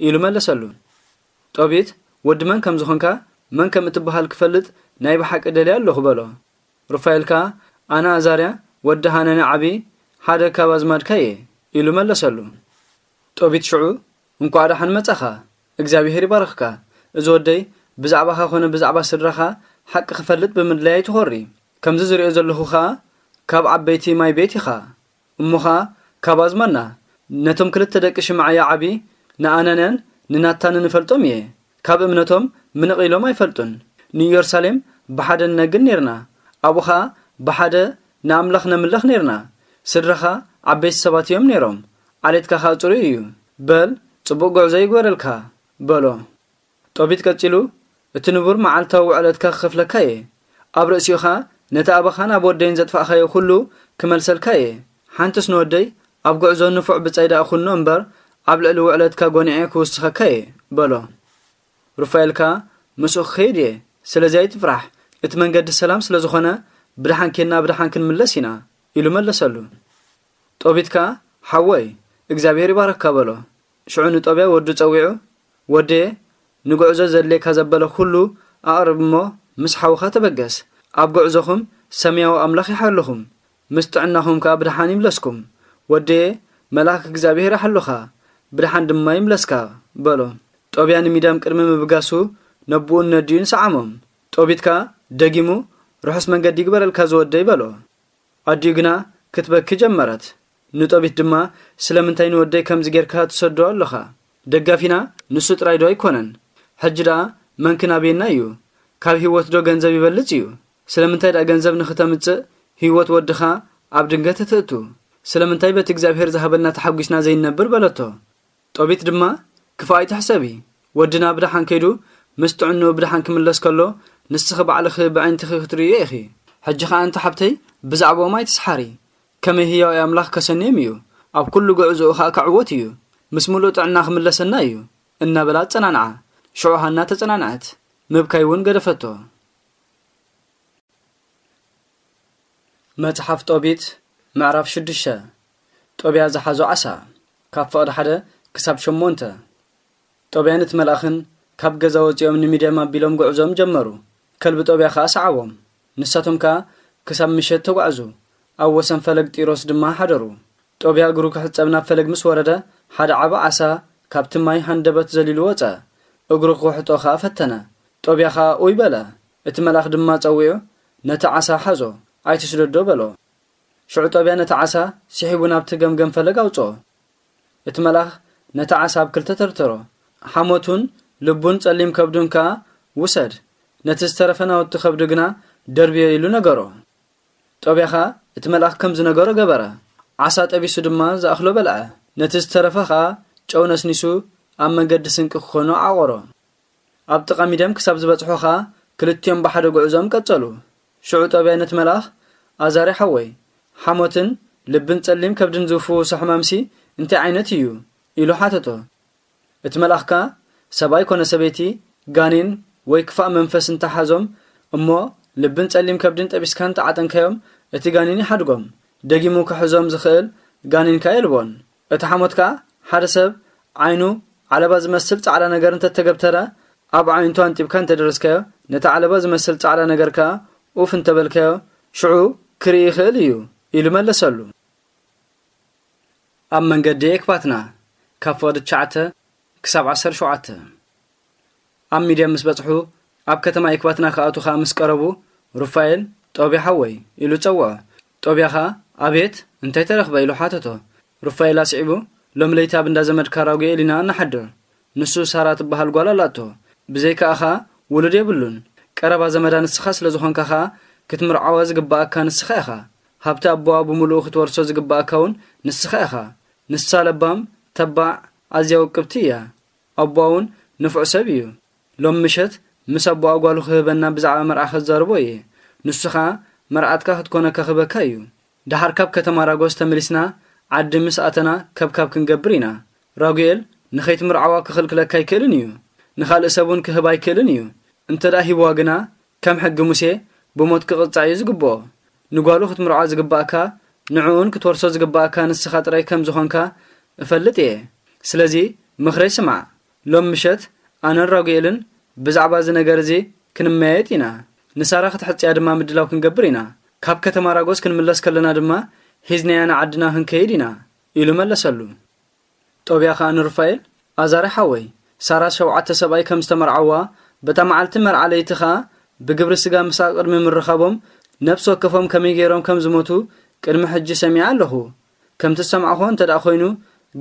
ኢሉ መለሰሉ። ጦቢት፣ ወዲ መን ከም ዝኾንካ፣ መን ከም እትበሃል ክፈልጥ ናይ ብሓቂ ደልየ ኣለኹ በሎ። ሩፋኤል ከኣ፣ ኣነ ኣዛርያ ወዲ ሃነኒ ዓቢ፣ ሓደ ካብ ኣዝማድካ እየ ኢሉ መለሰሉ። ጦቢት ሽዑ፣ እንኳዕ ደሓን መጻኻ፣ እግዚኣብሄር ይባርኽካ። እዚ ወደይ ብዛዕባኻ ኮነ ብዛዕባ ስድራኻ ሓቂ ክፈልጥ ብምድላይ ኣይትኾሪ። ከምዚ ዝሪኦ ዘለኹ ኸኣ ካብ ዓበይቲ ማይ ቤት ኢኻ። እሞ ኸኣ ካብ ኣዝማድና፣ ነቶም ክልተ ደቂ ሽማዕያ ዓቢ ንኣናንያን ንናታንን እፈልጦም እየ። ካብ እምነቶም ምንቕ ኢሎም ኣይፈልጡን። ንኢየሩሳሌም ብሓደ ንነግድ ኔርና። ኣብኡ ኸኣ ብሓደ ንኣምላኽ ነምልኽ ኔርና። ስድራኻ ዓበይቲ ሰባት እዮም ኔሮም። ዓሌትካ ኸኣ ጽሩይ እዩ። በል ጽቡቕ ጉዕዞ ይግበረልካ በሎ። ጦቢት ቀጺሉ፣ እቲ ንቡር መዓልታዊ ውዕለትካ ክኸፍለካ እየ። ኣብ ርእሲኡ ኸኣ ነቲ ኣባኻን ኣብ ወደይን ዘጥፋእካዮ ኩሉ ክመልሰልካ እየ። ሓንትስ ንወደይ ኣብ ጉዕዞ ንፉዕ ብጻይ ደኣ ኩኖ እምበር፣ ኣብ ልዕሊ ውዕለትካ ጎኒዐ ክውስኸካ እየ በሎ። ሩፋኤል ከኣ፣ ምስኡ ክኸይድ እየ፣ ስለዚ ኣይትፍራሕ፣ እቲ መንገዲ ሰላም ስለ ዝኾነ፣ ብደሓን ኬድና ብደሓን ክንምለስ ኢና ኢሉ መለሰሉ። ጦቢት ከኣ፣ ሓወይ፣ እግዚኣብሄር ይባርኽካ በሎ። ሽዑ ንጦብያ ወዱ ጸዊዑ፣ ወደየ፣ ንጉዕዞ ዘድልየካ ዘበለ ኩሉ ኣቕርብ እሞ ምስ ሓውኻ ተበገስ። ኣብ ጉዕዞኹም ሰማያዊ ኣምላኽ ይሓልኹም፣ ምስ ጥዕናኹም ከኣ ብደሓን ይምለስኩም። ወደየ፣ መልኣክ እግዚኣብሄር ይሓልኻ፣ ብደሓን ድማ ይምለስካ በሎ። ጦብያ ንሚድያም ቅድሚ ምብጋሱ ነቦኡን ነዲኡን ሰዓሞም። ጦቢት ከኣ ደጊሙ፣ ርሑስ መንገዲ ይግበረልካ ዝወደይ በሎ። ኣዲኡ ግና ክትበኪ ጀመረት። ንጦቢት ድማ፣ ስለምንታይ ንወደይ ከምዚ ጌርካ ትሰዶ ኣለኻ? ደጋፊና ንሱ ጥራይ ዶ ኣይኮነን? ሕጂ ደኣ መን ክናብየና እዩ? ካብ ህይወት ዶ ገንዘብ ይበልጽ እዩ? ስለምንታይ ደኣ ገንዘብ ንኽተምጽእ ህይወት ወድኻ ኣብ ድንገት እትእቱ? ስለምንታይ በቲ እግዚኣብሔር ዝሃበና ተሓጒስና ዘይንነብር? በለቶ። ጦቢት ድማ፣ ክፉእ ኣይትሕሰቢ፣ ወድና ብደሓን ከይዱ ምስ ጥዕንኡ ብደሓን ክምለስ ከሎ፣ ንስኺ ባዕልኺ ብኣዒንትኺ ክትርእዮ ኢኺ። ሕጂ ኸኣ ኣንቲ ሓብተይ ብዛዕባኦም ኣይትስሓሪ፣ ከመይ ህያው ኣምላኽ ከሰንዮም እዩ፣ ኣብ ኩሉ ጉዕዞኡ ኸኣ ክዕወት እዩ፣ ምስ ምሉእ ጥዕና ክምለሰና እዩ እናበላ ኣጸናንዓ። ሽዑ ሃና ተጸናንዐት፣ ምብካይ እውን ገደፈቶ። መጽሓፍ ጦቢት ምዕራፍ ሽዱሽተ። ጦብያ ዝሓዞ ዓሳ። ካብ ፍቕዲ ሓደ ክሳብ ሸሞንተ። ጦብያን እቲ መልኣኽን ካብ ገዛ ወጺኦም ንሚድያም ኣቢሎም ጉዕዞም ጀመሩ። ከልቢ ጦብያ ኸኣ ሰዓቦም። ንሳቶም ከኣ ክሳብ ምሸት ተጓዕዙ። ኣብ ወሰን ፈለግ ጢሮስ ድማ ሓደሩ። ጦብያ እግሩ ክሕጸብ ናብ ፈለግ ምስ ወረደ፣ ሓደ ዓቢ ዓሳ ካብቲ ማይ ሃንደበት ዘሊሉ ወጸ። እግሩ ክውሕጦ ኸኣ ፈተነ። ጦብያ ኸኣ ኡይ በለ። እቲ መልኣኽ ድማ ጸዊዑ፣ ነቲ ዓሳ ሓዞ፣ ኣይትስደዶ በሎ። ሽዑ ጦብያ ነቲ ዓሳ ስሒቡ ናብቲ ገምገም ፈለግ ኣውጽኦ። እቲ መልኣኽ ነቲ ዓሳ ኣብ ክልተ ተርተሮ። ሓሞቱን ልቡን ጸሊም ከብዱን ከኣ ውሰድ፣ ነቲ ዝተረፈ ናውቲ ከብዱ ግና ደርብዮ ኢሉ ነገሮ። ጦብያ ኸኣ እቲ መልኣኽ ከም ዝነገሮ ገበረ። ዓሳ ጠቢሱ ድማ ዝኣኽሎ በልዐ። ነቲ ዝተረፈ ኸኣ ጨው ነስኒሱ ኣብ መንገዲ ስንቂ ክኾኖ ዓቖሮ። ኣብ ጥቓ ሚድያም ክሳብ ዝበጽሑ ኸኣ ክልቲኦም ብሓደ ጉዕዞም ቀጸሉ። ሽዑ ጦብያ ነቲ መልኣኽ፣ ኣዛርያ ሓወይ፣ ሓሞትን ልብን ጸሊም ከብድን ዝፍውሶ ሕማምሲ እንታይ ዓይነት እዩ? ኢሉ ሓተቶ። እቲ መልኣኽ ከኣ፣ ሰብኣይ ኮነ ሰበይቲ ጋኔን ወይ ክፋእ መንፈስ እንተሓዞም እሞ ልብን ጸሊም ከብድን ጠቢስካ እንተዓጠንካዮም፣ እቲ ጋኔን ይሓድጎም፣ ደጊሙ ክሕዞም ዝኽእል ጋኔን ከኣ የልቦን። እቲ ሓሞት ከኣ ሓደ ሰብ ዓይኑ ዓለባ ዝመስል ጻዕዳ ነገር እንተተገብተረ፣ ኣብ ኣዒንቱ ኣንጢብካ እንተደረስካዮ፣ ነቲ ዓለባ ዝመስል ጻዕዳ ነገር ከኣ ኡፍ እንተበልካዮ፣ ሽዑ ክርኢ ይኽእል እዩ ኢሉ መለሰሉ። ኣብ መንገዲ ኤክባትና ካብ ፍቕዲ ትሽዓተ ክሳብ ዓሰርተ ሸውዓተ። ኣብ ሚድያም ምስ በጽሑ፣ ኣብ ከተማ ኤክባትና ክኣቱ ኸኣ ምስ ቀረቡ፣ ሩፋኤል፣ ጦብያ ሓወይ፣ ኢሉ ጸውዖ። ጦብያ ኸኣ፣ "ኣቤት፣ እንታይ ተረኽበ?" ኢሉ ሓተቶ። ሩፋኤል ኣስዒቡ፣ "ሎሚ ለይቲ ኣብ እንዳ ዘመድካ ራጉኤል ኢና እንሓድር። ንሱ ሳራ ትበሃል ጓል ኣላቶ። ብዘይካኣ ኸኣ ውሉድ የብሉን። ቀረባ ዘመዳ ንስኻ ስለ ዝኾንካ ኸኣ ክትምርዓዋ ዝግብኣካ ንስኻ ኢኻ። ሃብቲ ኣቦኣ ብምሉኡ ክትወርሶ ዝግብኣካ እውን ንስኻ ኢኻ። ንሳ ለባም፣ ተባዕ፣ ኣዝያ ውቅብቲ እያ። ኣቦኣ እውን ንፉዕ ሰብ እዩ። ሎም ምሸት ምስ ኣቦኣ ጓሉ ክህበና ብዛዕባ መርዓ ከዛርቦ እየ። ንሱ ኸኣ መርዓትካ ክትኮነካ ክህበካ እዩ። ደሓር ካብ ከተማ ራጎስ ተመሊስና ዓዲ ምስ ኣተና ከብካብ ክንገብር ኢና። ራጉኤል ንኸይትምርዓዋ ክኽልክለካ ኣይክእልን እዩ። ንኻልእ ሰብ እውን ክህባ ኣይክእልን እዩ። እንተ ደኣ ሂብዋ ግና ከም ሕጊ ሙሴ ብሞት ክቕጻዕ እዩ ዝግብኦ። ንጓሉ ክትምርዖ ዝግባእካ፣ ንዕኡን ክትወርሶ ዝግባእካ ንስኻ ጥራይ ከም ዝኾንካ እፈልጥ እየ። ስለዚ ምኽረይ ስማዕ። ሎም ምሸት ኣነን ራጉኤልን ብዛዕባ እዚ ነገር እዚ ክንመያየጥ ኢና። ንሳራ ክትሕጽያ ድማ ምድላው ክንገብር ኢና። ካብ ከተማ ራጎስ ክንምለስ ከለና ድማ ሒዝናያ ንዓድና ክንከይድ ኢና" ኢሉ መለሰሉ። ጦብያ ኸኣ ንሩፋኤል፣ "ኣዛሪ ሓወይ፣ ሳራ ሸውዓተ ሰብኣይ ከም ዝተመርዓዋ፣ በታ መዓልቲ መርዓ ለይቲ ኸኣ ብግብሪ ስጋ ምሳእ ቅድሚ ምርኻቦም ነፍሲ ወከፎም ከመይ ገይሮም ከም ዝሞቱ ቅድሚ ሕጂ ሰሚዐ ኣለኹ። ከምቲ ዝሰማዕኹዎ እንተ ደኣ ኾይኑ፣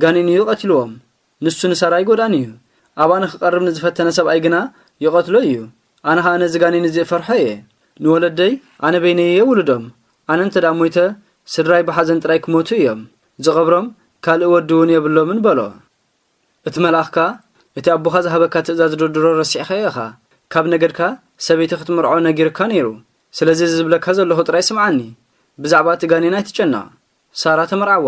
ጋኔን እዩ ቀቲልዎም። ንሱ ንሳራ ኣይጎድኣን እዩ። ኣብኣ ንኽቐርብ ንዝፈተነ ሰብኣይ ግና ይቐትሎ እዩ። ኣነ ኸኣ ነዚ ጋኔን እዚ እፈርሖ እየ። ንወለደይ ኣነ በይነይ እየ ውልዶም። ኣነ እንተ ደኣ ሞይተ፣ ስድራይ ብሓዘን ጥራይ ክሞቱ እዮም። ዝቐብሮም ካልእ ወዲ እውን የብሎምን" በሎ። እቲ መልኣኽ ከኣ፣ "እቲ ኣቦኻ ዝሃበካ ትእዛዝ ዶ ድሮ ረሲዕካዮ ኢኻ? ካብ ነገድካ ሰበይቲ ክትምርዖ ነጊርካ ነይሩ። ስለዚ እዚ ዝብለካ ዘለኹ ጥራይ ስምዓኒ። ብዛዕባ እቲ ጋኔን ኣይትጨነቕ። ሳራ ተመርዓዋ።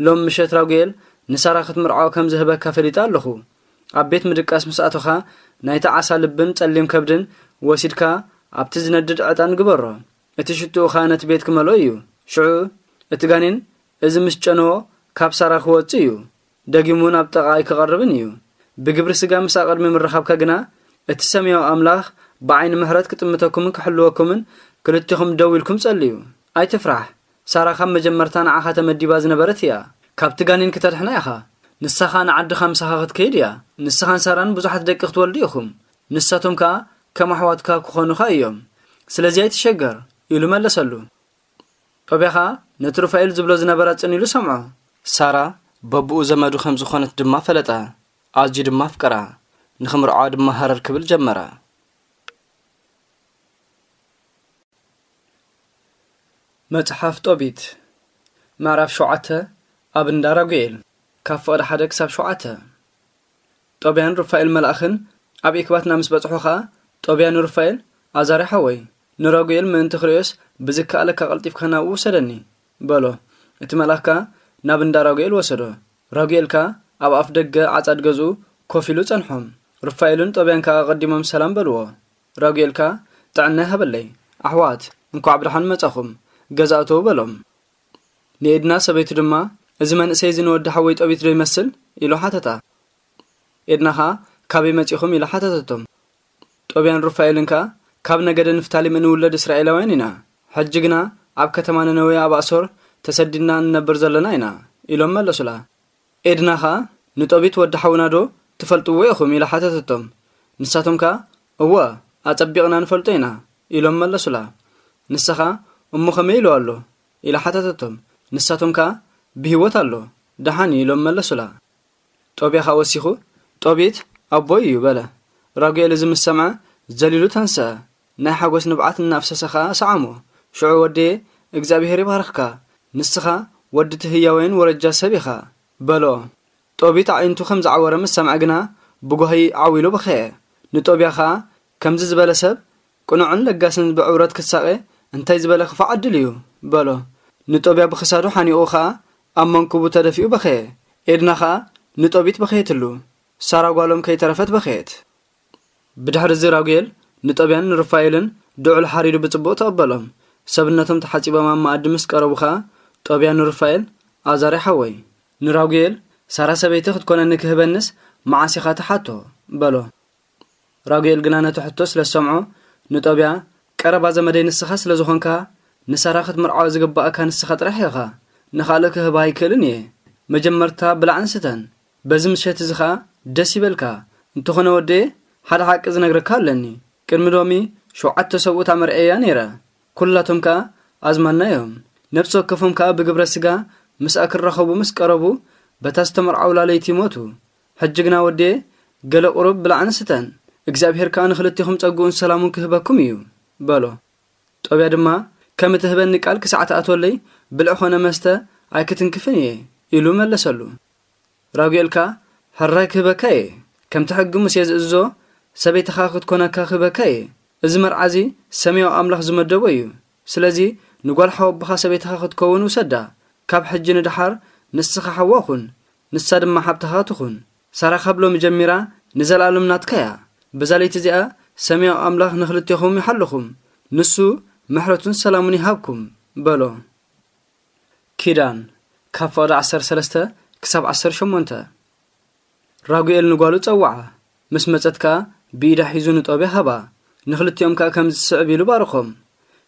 ሎም ምሸት ራጉኤል ንሳራ ክትምርዖ ከም ዝህበካ ፈሊጠ ኣለኹ። ኣብ ቤት ምድቃስ ምስ ኣቶኻ ናይቲ ዓሳ ልብን ጸሊም ከብድን ወሲድካ ኣብቲ ዝነድድ ዕጣን ግበሮ። እቲ ሽትኡ ኸኣ ነቲ ቤት ክመልኦ እዩ። ሽዑ እቲ ጋኔን እዚ ምስ ጨነዎ ካብ ሳራ ክወጽእ እዩ። ደጊሙ ናብ ጥቓ ኣይክቐርብን እዩ። ብግብሪ ስጋ ምስ ኣቐድሚ ምርኻብካ ግና እቲ ሰማያዊ ኣምላኽ ብዓይኒ ምሕረት ክጥምተኩምን ክሕልወኩምን ክልቴኹም ደው ኢልኩም ጸልዩ። ኣይትፍራሕ። ሳራ ካብ መጀመርታ ንዓኻ ተመዲባ ዝነበረት እያ። ካብቲ ጋኔን ክተድሕና ኢኻ። ንሳኻ ንዓድኻ ምሳኻ ክትከይድ እያ። ንስኻን ሳራን ብዙሓት ደቂ ክትወልዱ ኢኹም። ንሳቶም ከኣ ከም ኣሕዋትካ ክኾኑኻ እዮም። ስለዚ ኣይትሸገር" ኢሉ መለሰሉ። ጦብያ ኸኣ ነቲ ሩፋኤል ዝብሎ ዝነበረ ጽን ኢሉ ሰምዖ። ሳራ በብኡ ዘመዱ ከም ዝኾነት ድማ ፈለጠ። ኣዝዩ ድማ ኣፍቀራ። ንኽምርዖ ድማ ሃረር ክብል ጀመረ። መጽሓፍ ጦቢት ምዕራፍ ሸውዓተ። ኣብ እንዳ ራጉኤል። ካብ ፍቕዲ ሓደ ክሳብ ሸውዓተ። ጦብያን ሩፋኤል መልኣኽን ኣብ ኢክባትና ምስ በጽሑ ኸኣ፣ ጦብያ ንሩፋኤል፣ "ኣዛሪ ሓወይ፣ ንራጉኤል ምእንቲ ክርእዮስ ብዝከኣለካ ቀልጢፍካ ናብኡ ውሰደኒ" በሎ። እቲ መልኣኽ ከኣ ናብ እንዳ ራጉኤል ወሰዶ። ራጉኤል ከኣ ኣብ ኣፍ ደገ ዓጻድ ገዝኡ ኮፍ ኢሉ ጸንሖም። ሩፋኤልን ጦብያን ከኣ ኣቐዲሞም ሰላም በልዎ። ራጉኤል ከኣ፣ "ጥዕና ይሃበለይ፣ ኣሕዋት፣ እንኳዕ ብደሓን መጻኹም፣ ገዛ እተዉ" በሎም። ንኤድና ሰበይቱ ድማ፣ "እዚ መንእሰይ እዚ ንወዲ ሓወይ ጦቢት ዶ ይመስል?" ኢሉ ሓተታ። ኤድና ኸኣ፣ "ካበይ መጺኹም?" ኢላ ሓተተቶም። ጦብያን ሩፋኤልን ከኣ፣ "ካብ ነገደ ንፍታሊም እንውለድ እስራኤላውያን ኢና። ሕጂ ግና ኣብ ከተማ ነነዌ ኣብ ኣሶር ተሰዲድና እንነብር ዘለና ኢና" ኢሎም መለሱላ። ኤድና ኸኣ፣ "ንጦቢት ወዲ ሓውና ዶ ትፈልጥዎ ኢኹም?" ኢላ ሓተተቶም። ንሳቶም ከኣ፣ "እወ፣ ኣጸቢቕና ንፈልጦ ኢና" ኢሎም መለሱላ። ንሳ ኸኣ፣ "እሞ ከመይ ኢሉ ኣሎ?" ኢላ ሓተተቶም። ንሳቶም ከኣ፣ "ብህይወት ኣሎ፣ ደሓን እዩ" ኢሎም መለሱላ። ጦብያ ኸኣ ወሲኹ፣ "ጦቢት ኣቦይ እዩ" በለ። ራጉኤል እዚ ምስ ሰምዐ፣ ዘሊሉ ተንስአ። ናይ ሓጎስ ንብዓት እናፍሰሰ ኸኣ ሰዓሞ። ሽዑ፣ "ወደየ፣ እግዚኣብሄር ይባርኽካ። ንስኻ ወዲ እቲ ህያወይን ወረጃ ሰብ ኢኻ" በሎ። ጦቢት ኣዒንቱ ከም ዝዓወረ ምስ ሰምዐ ግና፣ ብጓሂ ዓው ኢሉ በኸየ። ንጦብያ ኸኣ፣ "ከምዚ ዝበለ ሰብ፣ ቅኑዕን ለጋስን ብዕውረት ክሳቐ እንታይ ዝበለ ክፉእ ዕድል እዩ" በሎ። ንጦብያ ብኽሳዱ ሓኒቑ ኸኣ ኣብ መንኩቡ ተደፊኡ በኸየ። ኤድና ኸኣ ንጦቢት በኸየትሉ። ሳራ ጓሎም ከይተረፈት በኸየት። ብድሕሪ እዚ ራጉኤል ንጦብያን ንሩፋኤልን ድዑል ሓሪዱ ብጽቡቕ ተቐበሎም። ሰብነቶም ተሓጺቦም ኣብ መኣዲ ምስ ቀረቡ ኸኣ ጦብያ ንሩፋኤል፣ "ኣዛሪ ሓወይ፣ ንራጉኤል ሳራ ሰበይቲ ክትኮነኒ ክህበንስ መዓስ ኢኻ ትሓቶ?" በሎ። ራጉኤል ግና ነቲ ሕቶ ስለ ዝሰምዖ ንጦብያ፣ "ቀረባ ዘመደይ ንስኻ ስለ ዝኾንካ፣ ንሳራ ክትምርዓዋ ዝግባእካ ንስኻ ጥራሕ ኢኻ። ንኻልእ ክህባ ኣይክእልን እየ። መጀመርታ ብላዕን ስተን። በዚ ምሸት እዚ ኸኣ ደስ ይበልካ። እንተኾነ ወደየ፣ ሓደ ሓቂ ዝነግረካ ኣለኒ። ቅድሚ ሎሚ ሸውዓተ ሰብኡት ኣመርዕየያ ነይረ። ኩላቶም ከኣ ኣዝማድና እዮም። ነፍሲ ወከፎም ከኣ ብግብረ ስጋ ምስኣ ክራኸቡ ምስ ቀረቡ፣ በታ ዝተመርዓውላ ለይቲ ሞቱ። ሕጂ ግና ወዴ፣ ገለ ቁሩብ ብላዕን ስተን፣ እግዚኣብሄር ከኣ ንኽልቴኹም ጸግኡን ሰላሙን ክህበኩም እዩ በሎ። ጦብያ ድማ፣ ከም እትህበኒ ቃል ክሳዕ ትኣትወለይ ብልዒ ኾነ መስተ ኣይክትንክፍን እየ ኢሉ መለሰሉ። ራጉኤል ከኣ፣ ሕራይ ክህበካ እየ፣ ከምቲ ሕጊ ሙሴ ዝእዝዞ ሰበይትኻ ክትኮነካ ክህበካ እየ። እዚ መርዓ እዚ ሰማያዊ ኣምላኽ ዝመደቦ እዩ። ስለዚ ንጓል ሓው ኣቦኻ ሰበይትኻ ክትከውን ውሰዳ። ካብ ሕጂ ንደሓር ንስኻ ሓዋ ኩን፣ ንሳ ድማ ሓብትኻ ትኹን። ሳራ ካብ ሎሚ ጀሚራ ንዘለኣለም ናትካ እያ። በዛ ለይቲ እዚኣ ሰማያዊ ኣምላኽ ንኽልቴኹም ይሓልኹም፣ ንሱ ምሕረቱን ሰላሙን ይሃብኩም በሎ። ኪዳን፣ ካብ ፍቕዲ ዓሰርተ ሰለስተ ክሳብ ዓሰርተ ሸሞንተ። ራጉኤል ንጓሉ ጸውዓ፣ ምስ መጸት ከኣ ብኢዳ ሒዙ ንጦብያ ሃባ። ንኽልቲኦም ከኣ ከምዚ ዝስዕብ ኢሉ ባርኾም።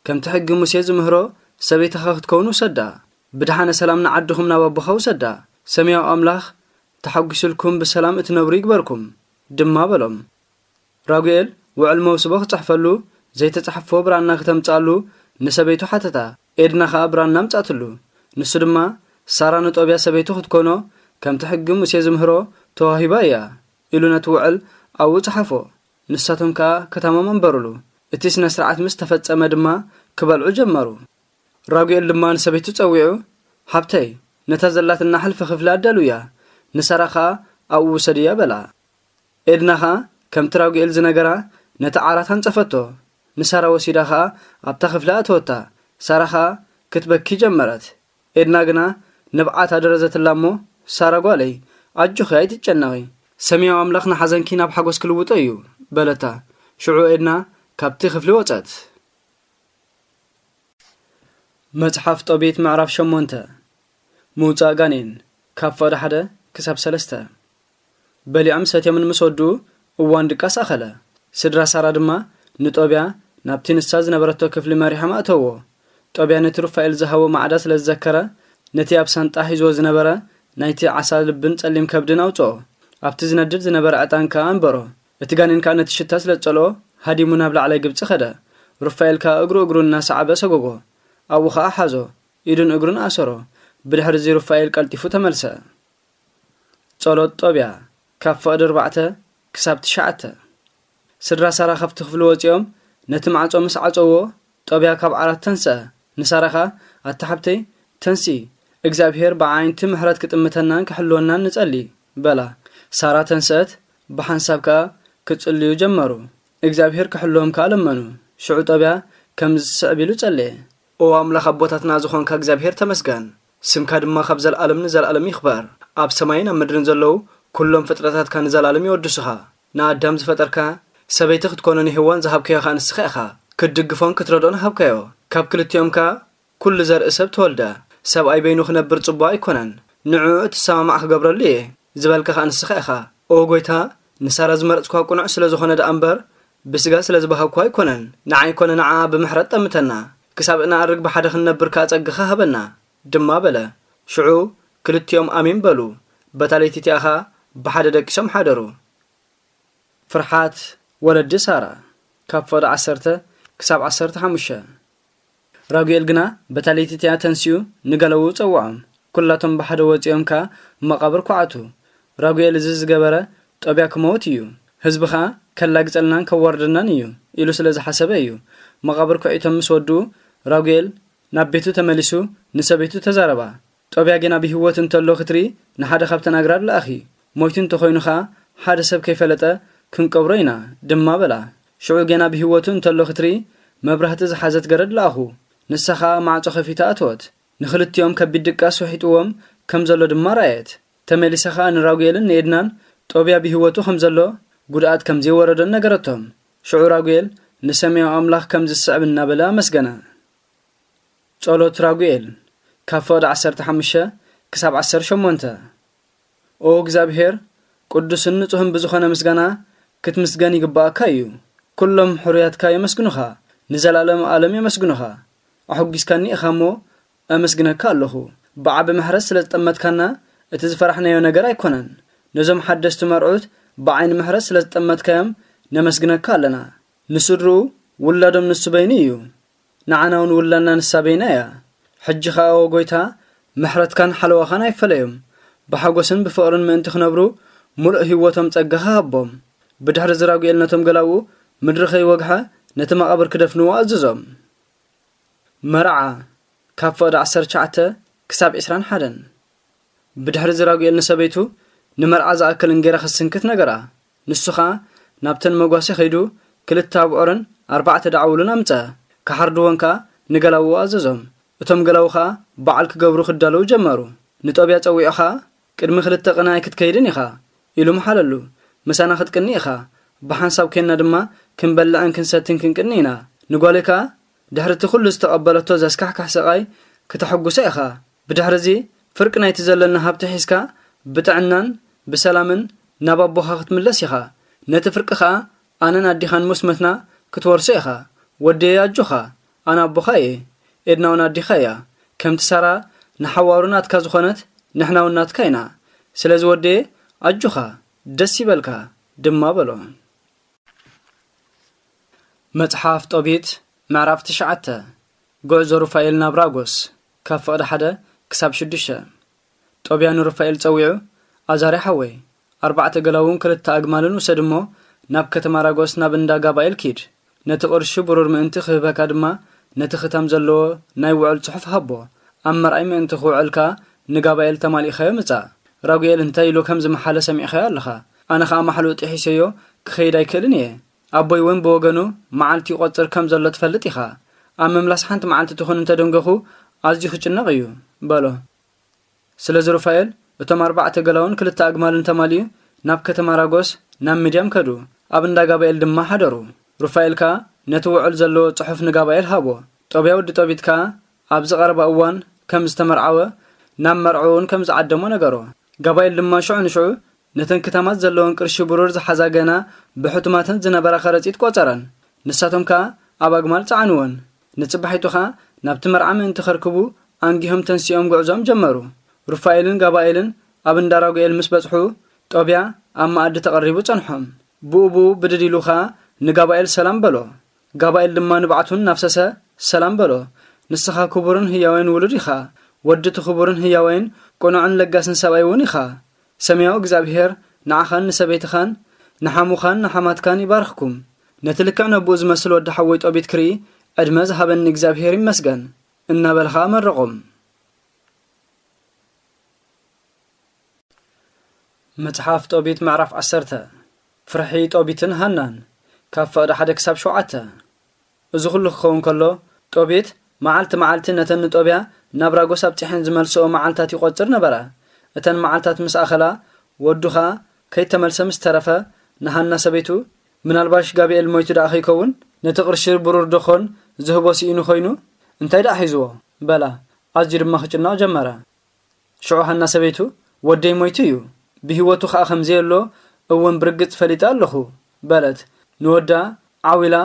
ከምቲ ሕጊ ሙሴ ዝምህሮ ሰበይትኻ ክትከውን ውሰዳ። ብደሓነ ሰላም ንዓድኹም ናብ ኣቦኻ ውሰዳ። ሰማያዊ ኣምላኽ ተሓጒሱልኩም ብሰላም እትነብሩ ይግበርኩም ድማ በሎም። ራጉኤል ውዕል መውስቦ ክጽሕፈሉ ዘይተጻሕፎ ብራና ክተምጽኣሉ ንሰበይቱ ሓተታ። ኤድና ኸኣ ብራና ኣምጻትሉ። ንሱ ድማ ሳራ ንጦብያ ሰበይቱ ክትኮኖ ከምቲ ሕጊ ሙሴ ዝምህሮ ተዋሂባ እያ ኢሉ ነቲ ውዕል ኣብኡ ጸሓፎ። ንሳቶም ከኣ ከተማም ኣንበሩሉ። እቲ ስነ ስርዓት ምስ ተፈጸመ ድማ ክበልዑ ጀመሩ። ራጉኤል ድማ ንሰበይቱ ጸዊዑ፣ ሓብተይ፣ ነታ ዘላትና ሕልፊ ክፍሊ ኣዳልውያ፣ ንሳራ ኸኣ ኣብኡ ውሰድያ በላ። ኤድና ኸኣ ከምቲ ራጉኤል ዝነገራ ነቲ ዓራት ኣንጸፈቶ። ንሳራ ወሲዳ ኸኣ ኣብታ ክፍሊ ኣእተወታ። ሳራ ኸኣ ክትበኪ ጀመረት። ኤድና ግና ንብዓት ኣደረዘትላ እሞ፣ ሳራ ጓለይ፣ ኣጆኺ ኣይትጨነቒ። ሰማያዊ ኣምላኽ ንሓዘንኪ ናብ ሓጎስ ክልውጦ እዩ በለታ። ሽዑ ኤድና ካብቲ ክፍሊ ወጸት። መጽሓፍ ጦቢት ምዕራፍ ሸሞንተ። ምውጻእ ጋኔን፣ ካብ ፍቕዲ ሓደ ክሳብ ሰለስተ። በሊዖም ሰትዮምን ምስ ወድኡ እዋን ድቃስ ኣኸለ። ስድራ ሳራ ድማ ንጦብያ ናብቲ ንሳ ዝነበረቶ ክፍሊ መሪሖም ኣእተዎ። ጦብያ ነቲ ሩፋኤል ዝሃቦ ማዕዳ ስለ ዝዘከረ፣ ነቲ ኣብ ሳንጣ ሒዝዎ ዝነበረ ናይቲ ዓሳ ልብን ጸሊም ከብድን ኣውጽኦ። ኣብቲ ዝነድድ ዝነበረ ዕጣን ከኣ ኣንበሮ። እቲ ጋኔን ከኣ ነቲ ሽታ ስለ ዝጸልኦ፣ ሃዲሙ ናብ ላዕላይ ግብጺ ኸደ። ሩፋኤል ከኣ እግሩ እግሩ እናሰዓበ ሰጎጎ። ኣብኡ ኸኣ ሓዞ። ኢዱን እግሩን ኣሰሮ። ብድሕሪ እዚ ሩፋኤል ቀልጢፉ ተመልሰ። ጸሎት ጦብያ፣ ካብ ፍቕዲ ኣርባዕተ ክሳብ ትሽዓተ። ስድራ ሳራ ካብቲ ክፍሊ ወጺኦም ነቲ ማዕጾ ምስ ዓጸዎ፣ ጦብያ ካብ ዓራት ተንስአ። ንሳራ ኸኣ፣ ኣታ ሓብተይ፣ ተንሲ፣ እግዚኣብሄር ብዓይንቲ ምሕረት ክጥምተናን ክሕልወናን ንጸሊ፣ በላ። ሳራ ተንስአት፣ ብሓንሳብ ከኣ ክጽልዩ ጀመሩ። እግዚኣብሄር ክሕልዎም ከኣ ለመኑ። ሽዑ ጦብያ ከምዚ ዝስዕብ ኢሉ ጸለየ። ኦ ኣምላኽ ኣቦታትና ዝኾንካ እግዚኣብሄር ተመስገን። ስምካ ድማ ካብ ዘለኣለም ንዘለኣለም ይኽበር። ኣብ ሰማይን ኣብ ምድርን ዘለዉ ኩሎም ፍጥረታትካ ንዘለኣለም የወድሱኻ። ንኣዳም ዝፈጠርካ፣ ሰበይቲ ክትኮኖ ንሄዋን ዝሃብካዮ ኸኣ ንስኻ ኢኻ። ክትድግፎን ክትረድኦን ሃብካዮ። ካብ ክልቲኦም ከኣ ኩሉ ዘርኢ ሰብ ተወልደ። ሰብኣይ በይኑ ክነብር ጽቡቕ ኣይኮነን። ንዕኡ እትሰማማዕ ክገብረሉ እየ ዝበልካ ኸኣ ንስኻ ኢኻ። ኦ ጐይታ፣ ንሳራ ዝመረጽኳ ቅኑዕ ስለ ዝኾነ ደኣ እምበር፣ ብስጋ ስለ ዝበሃግኳ ኣይኮነን። ንዓይ ኮነ ንዓኣ ብምሕረት ጠምተና። ክሳብ እነኣርግ ብሓደ ክንነብር ከኣ ጸግኻ ሃበና፣ ድማ በለ። ሽዑ ክልቲኦም ኣሜን በሉ። በታ ለይቲ እቲኣ ኸኣ ብሓደ ደቂሶም ሓደሩ። ፍርሓት ወለዲ ሳራ፣ ካብ ፍቕዲ ዓሰርተ ክሳብ ዓሰርተ ሓሙሽተ። ራጉኤል ግና በታ ለይቲ እቲኣ ተንሲኡ ንገለዉ ጸውዖም። ኩላቶም ብሓደ ወጺኦም ከኣ መቓብር ኳዓቱ። ራጉኤል እዚ ዝገበረ ጦብያ ክመውት እዩ፣ ህዝቢ ኸኣ ከላግጸልናን ከዋርደናን እዩ ኢሉ ስለ ዝሓሰበ እዩ። መቓብር ኩዒቶም ምስ ወድኡ፣ ራጉኤል ናብ ቤቱ ተመሊሱ ንሰበይቱ ተዛረባ። ጦብያ ጌና ብህይወት እንተሎ ክትርኢ ንሓደ ካብተን ኣግራድ ለኣኺ። ሞይቱ እንተኾይኑ ኸኣ ሓደ ሰብ ከይፈለጠ ክንቀብሮ ኢና ድማ በላ። ሽዑ ጌና ብህይወቱ እንተሎ ክትርኢ መብራህቲ ዝሓዘት ገረድ ለኣኹ። ንሳ ኸኣ ማዕጾ ከፊታ ኣተወት። ንኽልቲኦም ከቢድ ድቃስ ውሒጥዎም ከም ዘሎ ድማ ረኣየት። ተመሊሳ ኸኣ ንራጉኤልን ንኤድናን ጦብያ ብህይወቱ ከም ዘሎ፣ ጉድኣት ከም ዘይወረዶን ነገረቶም። ሽዑ ራጉኤል ንሰማያዊ ኣምላኽ ከም ዝስዕብ እናበለ ኣመስገነ። ጸሎት ራጉኤል፣ ካብ ፍቕዲ ዓሰርተ ሓሙሽተ ክሳብ ዓሰርተ ሸሞንተ። ኦ እግዚኣብሄር፣ ቅዱስን ንጹህን ብዝኾነ ምስጋና ክትምስገን ይግባኣካ እዩ። ኩሎም ሕሩያትካ የመስግኑኻ፣ ንዘለኣለም ዓለም የመስግኑኻ። ኣሐጒስካኒ ኢኻ እሞ፣ ኣመስግነካ ኣለኹ። ብዓቢ ምሕረት ስለ ዝጠመትካና፣ እቲ ዝፈራሕናዮ ነገር ኣይኮነን። ነዞም ሓደስቲ መርዑት ብዓይኒ ምሕረት ስለ ዝጠመትካዮም፣ ነመስግነካ ኣለና። ንስድርኡ፣ ውላዶም ንሱ በይኑ እዩ። ንዓና እውን ውላድና ንሳ በይና እያ። ሕጂ ኸኣ፣ ኦ ጐይታ፣ ምሕረትካን ሓለዋኻን ኣይፈለዮም። ብሓጎስን ብፍቕርን ምእንቲ ክነብሩ፣ ምሉእ ህይወቶም ጸጋኻ ሃቦም። ብድሕሪ እዚ ራጉኤል ነቶም ገላዉ፣ ምድሪ ከይወግሐ፣ ነቲ መቓብር ክደፍንዎ ኣዘዞም። መርዓ፣ ካብ ፍቕዲ ዓሰርተ ትሽዓተ ክሳብ ዕስራን ሓደን። ብድሕሪ እዚ ራጉኤል ንሰበይቱ፣ ንመርዓ ዝኣክል እንጌራ ክትስንክት ነገራ። ንሱ ኸኣ ናብተን መጓሴ ኸይዱ፣ ክልተ ኣብዑርን ኣርባዕተ ደዓውሉን ኣምጸ። ክሓርድወን ከኣ ንገላውኡ ኣዘዞም። እቶም ገላዉ ኸኣ በዓል ክገብሩ ክዳለዉ ጀመሩ። ንጦብያ ጸዊዑ ኸኣ፣ "ቅድሚ ክልተ ቅነ ኣይክትከይድን ኢኻ" ኢሉ መሓለሉ። "ምሳና ክትቅኒ ኢኻ፣ ብሓንሳብ ኬንና ድማ ክንበልዕን ክንሰትን ክንቅኒ ኢና። ንጓለይ ከኣ ድሕሪ እቲ ኩሉ ዝተቐበለቶ ዘስካሕክሕ ስቓይ ክተሐጉሳ ኢኻ። ብድሕሪ እዚ ፍርቂ ናይቲ ዘለና ሃብቲ ሒዝካ ብጥዕናን ብሰላምን ናብ ኣቦኻ ክትምለስ ኢኻ። ነቲ ፍርቂ ኸኣ ኣነን ኣዲኻን ምስ መትና ክትወርሶ ኢኻ። ወደየ ኣጆኻ፣ ኣነ ኣቦኻ እየ፣ ኤድና እውን ኣዲኻ እያ። ከምቲ ሳራ ንሓዋሩ ናትካ ዝኾነት ንሕና እውን ናትካ ኢና። ስለዚ ወደየ ኣጆኻ፣ ደስ ይበልካ" ድማ በሎ። መጽሓፍ ጦቢት ምዕራፍ ትሽዓተ። ጉዕዞ ሩፋኤል ናብ ራጎስ፣ ካብ ፍቕዲ ሓደ ክሳብ ሽዱሽተ። ጦብያ ንሩፋኤል ጸዊዑ፣ "ኣዛርያ ሓወይ፣ ኣርባዕተ ገላውን ክልተ ኣግማልን ውሰድ እሞ፣ ናብ ከተማ ራጎስ ናብ እንዳ ጋባኤል ኪድ። ነቲ ቅርሺ ብሩር ምእንቲ ክህበካ ድማ፣ ነቲ ክታም ዘለዎ ናይ ውዕል ጽሑፍ ሃቦ። ኣብ መርኣይ ምእንቲ ክውዕል ከኣ ንጋባኤል ተማሊእካዮ ምጻእ። ራጉኤል እንታይ ኢሉ ከም ዝመሓለ ሰሚዕካዮ ኣለኻ። ኣነ ኸኣ ማሕልኡ ጥሒሰዮ ክኸይድ ኣይክእልን እየ። ኣቦይ እውን ብወገኑ መዓልቲ ይቖጽር ከም ዘሎ ትፈልጥ ኢኻ። ኣብ ምምላስ ሓንቲ መዓልቲ ትኹን እንተደንገኹ ኣዝዩ ክጭነቕ እዩ" በሎ። ስለዚ ሩፋኤል እቶም ኣርባዕተ ገላውን ክልተ ኣግማልን ተማሊኡ ናብ ከተማ ራጎስ ናብ ምድያም ከዱ። ኣብ እንዳ ጋባኤል ድማ ሓደሩ። ሩፋኤል ከኣ ነቲ ውዕል ዘለዎ ጽሑፍ ንጋባኤል ሃቦ። ጦብያ ወዲ ጦቢት ከኣ ኣብዚ ቀረባ እዋን ከም ዝተመርዓወ፣ ናብ መርዕኡ እውን ከም ዝዓደሞ ነገሮ። ጋባኤል ድማ ሽዑ ንሽዑ ነተን ክታማት ዘለወን ቅርሺ ብሩር ዝሓዛ ገና ብሕቱማተን ዝነበራ ከረጺት ቆጸረን። ንሳቶም ከኣ ኣብ ኣግማል ጸዓንወን። ንጽባሒቱ ኸኣ ናብቲ መርዓ ምእንቲ ከርክቡ ኣንጊሆም ተንሲኦም ጉዕዞም ጀመሩ። ሩፋኤልን ጋባኤልን ኣብ እንዳ ራጉኤል ምስ በጽሑ፣ ጦብያ ኣብ መኣዲ ተቐሪቡ ጸንሖም። ብኡ ብኡ ብድድ ኢሉ ኸኣ ንጋባኤል ሰላም በሎ። ጋባኤል ድማ ንብዓቱ እናፍሰሰ ሰላም በሎ። "ንስኻ ክቡርን ህያወይን ውሉድ ኢኻ። ወዲ እቲ ክቡርን ህያወይን ቅኑዕን ለጋስን ሰብኣይ እውን ኢኻ። ሰማያዊ እግዚኣብሄር ንዓኻን ንሰበይትኻን ንሓሙኻን ንሓማትካን ይባርኽኩም። ነቲ ልክዕ ነብኡ ዝመስል ወዲ ሓወይ ጦቢት ክርኢ ዕድመ ዝሃበኒ እግዚኣብሄር ይመስገን" እናበለ ኸኣ መረቖም። መጽሓፍ ጦቢት ምዕራፍ ዓሰርተ። ፍርሒ ጦቢትን ሃናን፣ ካብ ፍቕዲ ሓደ ክሳብ ሸውዓተ። እዚ ኹሉ ክኸውን ከሎ፣ ጦቢት መዓልቲ መዓልቲ ነተን ንጦብያ ናብ ራጎስ ኣብጺሐን ዝመልስኦ መዓልታት ይቖጽር ነበረ። እተን መዓልታት ምስ ኣኸላ፣ ወዱ ኸኣ ከይተመልሰ ምስ ተረፈ፣ ንሃና ሰበይቱ፣ "ምናልባሽ ጋብኤል ሞይቱ ደኣ ከይከውን? ነቲ ቅርሺ ብሩር ደኾን ዝህቦ ስኢኑ ኾይኑ? እንታይ ደኣ ሒዝዎ?" በላ። ኣዝዩ ድማ ክጭነቕ ጀመረ። ሽዑ ሃና ሰበይቱ፣ "ወደይ ሞይቱ እዩ፣ ብህይወቱ ኸኣ ከም ዘየሎ እውን ብርግጽ ፈሊጠ ኣለኹ" በለት። ንወዳ ዓው ኢላ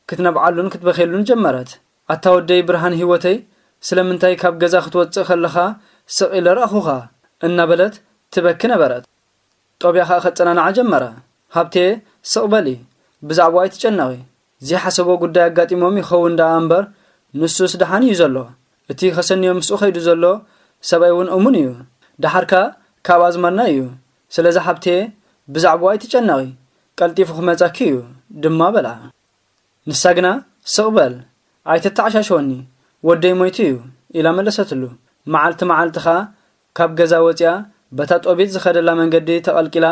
ክትነብዓሉን ክትበኽየሉን ጀመረት። "ኣታ ወደይ፣ ብርሃን ህይወተይ፣ ስለምንታይ ካብ ገዛ ክትወጽእ ከለኻ ስቕ ኢለ ረኣኹኻ?" እናበለት ትበኪ ነበረት። ጦብያ ኸኣ ከጸናንዓ ጀመረ። "ሃብቴ፣ ስቕ በሊ፣ ብዛዕባኡ ኣይትጨነቒ። ዘይሓሰቦ ጉዳይ ኣጋጢሞም ይኸውን ደኣ እምበር፣ ንሱስ ደሓን እዩ ዘሎ። እቲ ከሰንዮ ምስኡ ኸይዱ ዘሎ ሰብኣይ እውን እሙን እዩ። ደሓር ከኣ ካብ ኣዝማድና እዩ። ስለዚ ሓብቴ፣ ብዛዕባኡ ኣይትጨነቒ፣ ቀልጢፉ ክመጻኪ እዩ" ድማ በላ። ንሳ ግና፣ "ስቕ በል፣ ኣይተተዓሻሽወኒ፣ ወደይ ሞይቱ እዩ" ኢላ መለሰትሉ። መዓልቲ መዓልቲ ኸኣ ካብ ገዛ ወጺኣ በታ ጦቢት ዝኸደላ መንገዲ ተቐልቂላ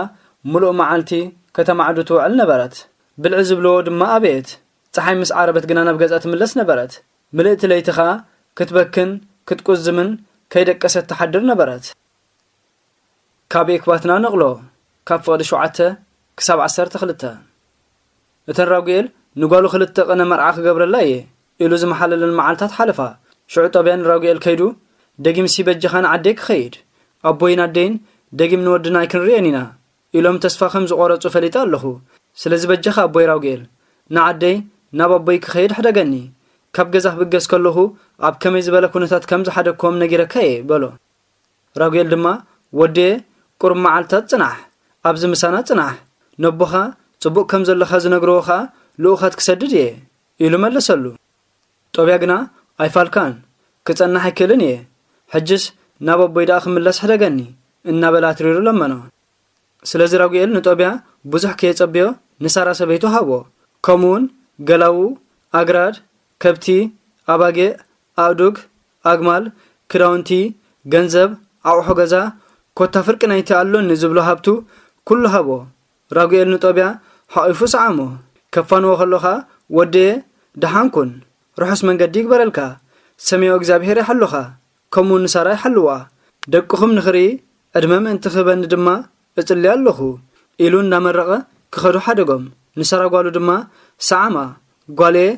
ምሉእ መዓልቲ ከተማዕዱ ትውዕል ነበረት። ብልዒ ዝብልዎ ድማ ኣበየት። ጸሓይ ምስ ዓረበት ግና ናብ ገዛ ትምለስ ነበረት። ምልእቲ ለይቲ ኸኣ ክትበክን ክትቁዝምን ከይደቀሰት ትሓድር ነበረት። ካብ ኤክባትና ነቕሎ፣ ካብ ፍቕዲ ሸውዓተ ክሳብ ዓሰርተ ክልተ። እተን ራጉኤል ንጓሉ ክልተ ቅነ መርዓ ክገብረላ እየ ኢሉ ዝመሓለለን መዓልታት ሓለፋ። ሽዑ ጦብያ ንራጉኤል ከይዱ፣ "ደጊምሲ በጃኻ ንዓደይ ክኸይድ፣ ኣቦይን ኣደይን ደጊም ንወድና ኣይክንርእዮን ኢና" ኢሎም ተስፋ ከም ዝቖረጹ ፈሊጠ ኣለኹ። ስለዚ በጃኻ ኣቦይ ራጉኤል፣ ንዓደይ ናብ ኣቦይ ክኸይድ ሕደገኒ። ካብ ገዛ ክብገስ ከለኹ ኣብ ከመይ ዝበለ ኩነታት ከም ዝሓደግክዎም ነጊረካ እየ በሎ። ራጉኤል ድማ፣ "ወደየ፣ ቁሩብ መዓልታት ጽናሕ፣ ኣብዚ ምሳና ጽናሕ፣ ነቦኻ ጽቡቕ ከም ዘለኻ ዝነግርዎ ኸኣ ልኡኻት ክሰድድ እየ" ኢሉ መለሰሉ። ጦብያ ግና፣ "ኣይፋልካን፣ ክጸንሕ ኣይክእልን እየ። ሕጅስ ናብ ኣቦይ ደኣ ክምለስ ሕደገኒ፣ እናበለ ኣትሪሩ ለመኖ። ስለዚ ራጉኤል ንጦብያ ብዙሕ ከየጸብዮ ንሳራ ሰበይቱ ሃቦ። ከምኡውን ገላዉ፣ ኣግራድ፣ ከብቲ፣ ኣባጌዕ፣ ኣእዱግ፣ ኣግማል፣ ክዳውንቲ፣ ገንዘብ፣ ኣቑሑ ገዛ፣ ኮታ ፍርቂ ናይቲ ኣሎኒ ዝብሎ ሃብቱ ኩሉ ሃቦ። ራጉኤል ንጦብያ ሓቒፉ ሰዓሞ። ከፋንዎ ከሎኻ፣ "ወደየ፣ ደሓን ኩን፣ ርሑስ መንገዲ ይግበረልካ፣ ሰሜዮ እግዚኣብሄር ይሓሉኻ፣ ከምኡ ንሳራ ይሓልዋ፣ ደቅኹም ንኽርኢ ዕድመ ምእንቲ ክህበኒ ድማ እጽሊ ኣለኹ" ኢሉ እንዳመረቐ ክኸዱ ሓደጎም። ንሳራ ጓሉ ድማ ሰዓማ፣ "ጓለየ፣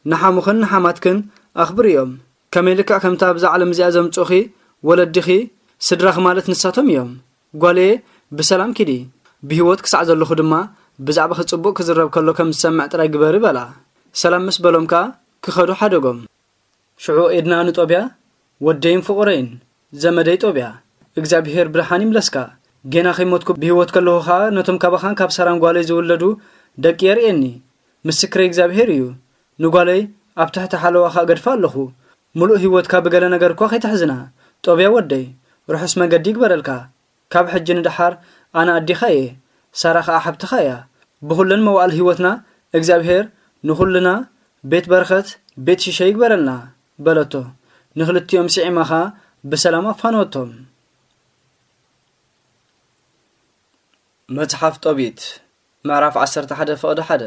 ንሓሙኽን ንሓማትክን ኣኽብርዮም። ከመይ ልክዕ ከምቲ ኣብዛ ዓለም እዚኣ ዘምጽኡኺ ወለዲኺ፣ ስድራኺ ማለት ንሳቶም እዮም። ጓለየ፣ ብሰላም ኪዲ። ብህይወት ክሳዕ ዘለኹ ድማ ብዛዕባኺ ጽቡቕ ክዝረብ ከሎ ከም ዝሰምዕ ጥራይ ግበሪ" በላ። ሰላም ምስ በሎም ከኣ ክኸዱ ሓደጎም። ሽዑ ኤድና ንጦብያ፣ "ወደይን ፍቑረይን፣ ዘመደይ ጦብያ፣ እግዚኣብሄር ብርሃን ይምለስካ። ጌና ከይሞትኩ ብህይወት ከለኹ ኸኣ ነቶም ካባኻን ካብ ሳራን ጓለይ ዝውለዱ ደቂ የርእየኒ። ምስክረይ እግዚኣብሄር እዩ። ንጓለይ ኣብ ትሕቲ ሓለዋኻ እገድፋ ኣለኹ። ምሉእ ህይወትካ ብገለ ነገር እኳ ከይተሕዝና። ጦብያ ወደይ፣ ርሑስ መገዲ ይግበረልካ። ካብ ሕጂ ንደሓር ኣነ ኣዴኻ እየ፣ ሳራ ኸኣ ሓብትኻ እያ። ብኹለን መዋእል ህይወትና እግዚኣብሄር ንኹልና ቤት በረኸት፣ ቤት ሽሸ ይግበረልና" በለቶ። ንኽልቲኦም ስዒማ ኸኣ ብሰላም ኣፋነወቶም። መጽሓፍ ጦቢት ምዕራፍ ዓሰርተ ሓደ ፍቕዲ ሓደ።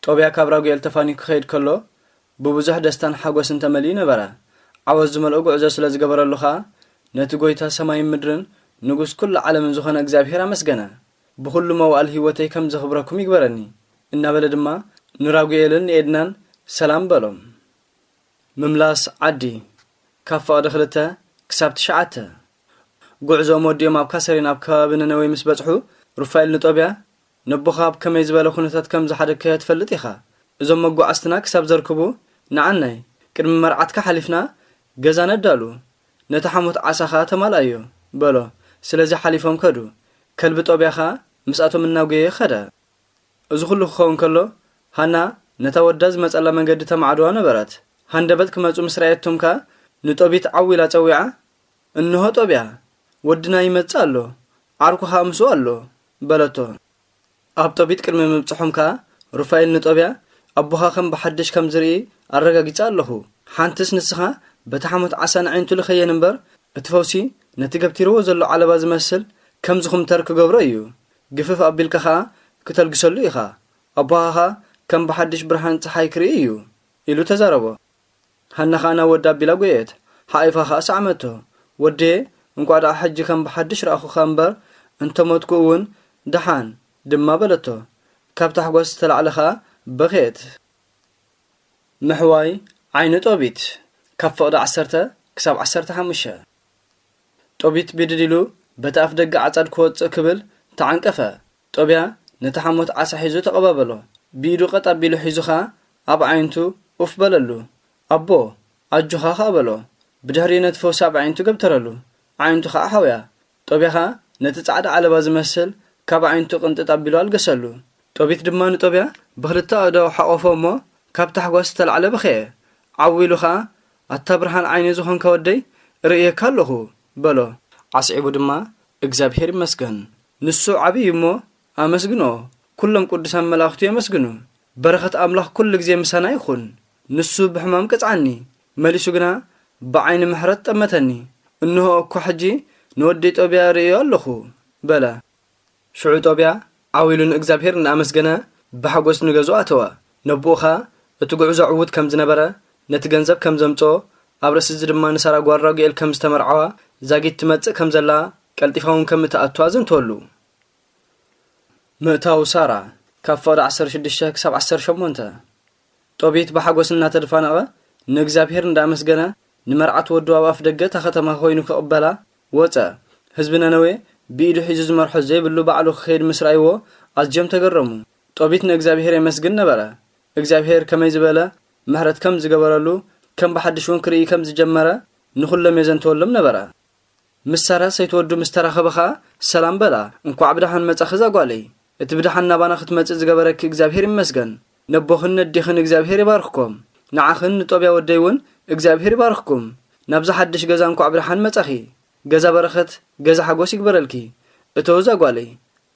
ጦብያ ካብ ራጉኤል ተፋንዩ ክኸይድ ከሎ፣ ብብዙሕ ደስታን ሓጎስን ተመሊኡ ነበረ። ዓወት ዝመልኦ ጉዕዞ ስለ ዝገበረሉ ኸኣ፣ ነቲ ጐይታ ሰማይን ምድርን፣ ንጉስ ኩሉ ዓለምን ዝኾነ እግዚኣብሄር ኣመስገነ። "ብኹሉ መዋእል ህይወተይ ከም ዘኽብረኩም ይግበረኒ" እናበለ ድማ ንራጉኤልን ንኤድናን ሰላም በሎም። ምምላስ ዓዲ፣ ካብ ፍቕዲ ክልተ ክሳብ ትሽዓተ። ጉዕዞኦም ወዲኦም ኣብ ካሰሪን ኣብ ከባቢ ነነዌ ምስ በጽሑ፣ ሩፋኤል ንጦብያ፣ "ነቦኻ ኣብ ከመይ ዝበለ ኩነታት ከም ዝሓደግካዮ ትፈልጥ ኢኻ። እዞም መጓዓዝትና ክሳብ ዘርክቡ ንዓናይ፣ ቅድሚ መርዓትካ ሓሊፍና ገዛ ነዳሉ፣ ነቲ ሓሞት ዓሳ ኸኣ ተማልኣዮ" በሎ። ስለዚ ሓሊፎም ከዱ። ከልቢ ጦብያ ኸኣ ምስኣቶም እናጎየ ኸደ። እዚ ኹሉ ክኸውን ከሎ፣ ሃና ነታ ወዳ ዝመጸላ መንገዲ ተማዕድዋ ነበረት። ሃንደበት ክመጹ ምስ ረኣየቶም ከኣ ንጦቢት ዓው ኢላ ጸዊዓ፣ "እንሆ ጦብያ፣ ወድና ይመጽእ ኣሎ፣ ዓርኩ ኸኣ ምስኡ ኣሎ" በለቶ። ኣብ ጦቢት ቅድሚ ምብጽሖም ከኣ ሩፋኤል ንጦብያ፣ "ኣቦኻ ከም ብሓድሽ ከም ዝርኢ ኣረጋጊጸ ኣለኹ። ሓንትስ ንስኻ በቲ ሓሞት ዓሳ ንዓይንቱ ልኸየን እምበር፣ እቲ ፈውሲ ነቲ ገብቲርዎ ዘሎ ዓለባ ዝመስል ከም ዝኹምተር ክገብሮ እዩ። ግፍፍ ኣቢልካ ኸኣ ክተልግሰሉ ኢኻ። ኣቦኻ ኸኣ ከም ብሓድሽ ብርሃን ጸሓይ ክርኢ እዩ" ኢሉ ተዛረቦ። ሃና ኸኣ ናብ ወዳ ኣቢላ ጐየት፣ ሓቒፋ ኸኣ ሰዓመቶ። "ወደየ፣ እንቋዕ ደኣ ሕጂ ከም ብሓድሽ ረኣኹኻ እምበር፣ እንተ ሞትኩ እውን ደሓን" ድማ በለቶ። ካብ ታሕጓስ ዝተላዕለ ኸኣ በኸየት። ምሕዋይ ዓይኒ ጦቢት፣ ካብ ፍቕዲ ዓሰርተ ክሳብ ዓሰርተ ሓሙሽተ። ጦቢት ብድድ ኢሉ በቲ ኣፍ ደገ ዓጻድ ክወጽእ ክብል ተዓንቀፈ። ጦብያ ነቲ ሓሞት ዓሳ ሒዙ ተቐባበሎ። ብኢዱ ቀጥ ኣቢሉ ሒዙ ኸኣ ኣብ ኣዒንቱ ኡፍ በለሉ። "ኣቦ፣ ኣጆኻ" ኸኣ በሎ። ብድሕሪኡ ነቲ ፈውሲ ኣብ ኣዒንቱ ገብተረሉ። ኣዒንቱ ኸኣ ሓውያ። ጦብያ ኸኣ ነቲ ጻዕዳ ዓለባ ዝመስል ካብ ኣዒንቱ ቅንጥጥ ኣቢሉ ኣልገሰሉ። ጦቢት ድማ ንጦብያ ብኽልተ ኣእዳዉ ሓቖፎ እሞ ካብ ታሕጓስ ዝተላዕለ በኸየ። ዓው ኢሉ ኸኣ፣ "ኣታ ብርሃን ዓይነይ ዝኾንካ ወደይ፣ እርእየካ ኣለኹ" በሎ። ኣስዒቡ ድማ፣ "እግዚኣብሄር ይመስገን፣ ንሱ ዓብዪ እዩ እሞ ኣመስግንኦ፣ ኩሎም ቅዱሳን መላእኽቱ የመስግኑ። በረኸት ኣምላኽ ኩሉ ግዜ ምሳና ይኹን። ንሱ ብሕማም ቀጽዓኒ፣ መሊሱ ግና ብዓይኒ ምሕረት ጠመተኒ። እንሆ እኳ ሕጂ ንወደይ ጦብያ እርእዮ ኣለኹ" በለ። ሽዑ ጦብያ ዓው ኢሉ ንእግዚኣብሄር እናኣመስገነ ብሓጎስ ንገዝኡ ኣተወ። ነቦኡ ኸኣ እቲ ጉዕዞ ዕዉት ከም ዝነበረ፣ ነቲ ገንዘብ ከም ዘምጽኦ፣ ኣብ ርእሲ እዚ ድማ ንሳራ ጓል ራጉኤል ከም ዝተመርዓዋ፣ ዛጊት ትመጽእ ከም ዘላ፣ ቀልጢፋ እውን ከም እትኣቱ ኣዘንተወሉ። ምእታው ሳራ፣ ካብ ፍቕዲ ዓሰርተ ሽዱሽተ ክሳብ ዓሰርተ ሸሞንተ። ጦቢት ብሓጎስ እናተደፋነቐ ንእግዚኣብሄር እንዳኣመስገነ፣ ንመርዓት ወዱ ኣብ ኣፍ ደገ እታ ከተማ ኮይኑ ክቕበላ ወጸ። ህዝቢ ነነዌ ብኢዱ ሒዙ ዝመርሖ ዘይብሉ ባዕሉ ክኸይድ ምስ ረኣይዎ ኣዝዮም ተገረሙ። ጦቢት ንእግዚኣብሄር የመስግን ነበረ። እግዚኣብሄር ከመይ ዝበለ ምሕረት ከም ዝገበረሉ፣ ከም ብሓድሽ እውን ክርኢ ከም ዝጀመረ ንኹሎም የዘንተወሎም ነበረ። ምስ ሳራ ሰይቲ ወዱ ምስ ተራኸበ ኸኣ ሰላም በላ። "እንኳዕ ብደሓን መጻኺ እዛ ጓለይ። እቲ ብደሓን ናባና ክትመጽእ ዝገበረኪ እግዚኣብሄር ይመስገን። ነቦኽን ነዴኽን እግዚኣብሄር ይባርኽኮም። ንዓኽን ንጦብያ ወደይ እውን እግዚኣብሔር ይባርኽኩም። ናብዛ ሓድሽ ገዛ እንኳዕ ብደሓን መጻኺ። ገዛ በረኸት፣ ገዛ ሓጎስ ይግበረልኪ። እተው እዛ ጓለይ፣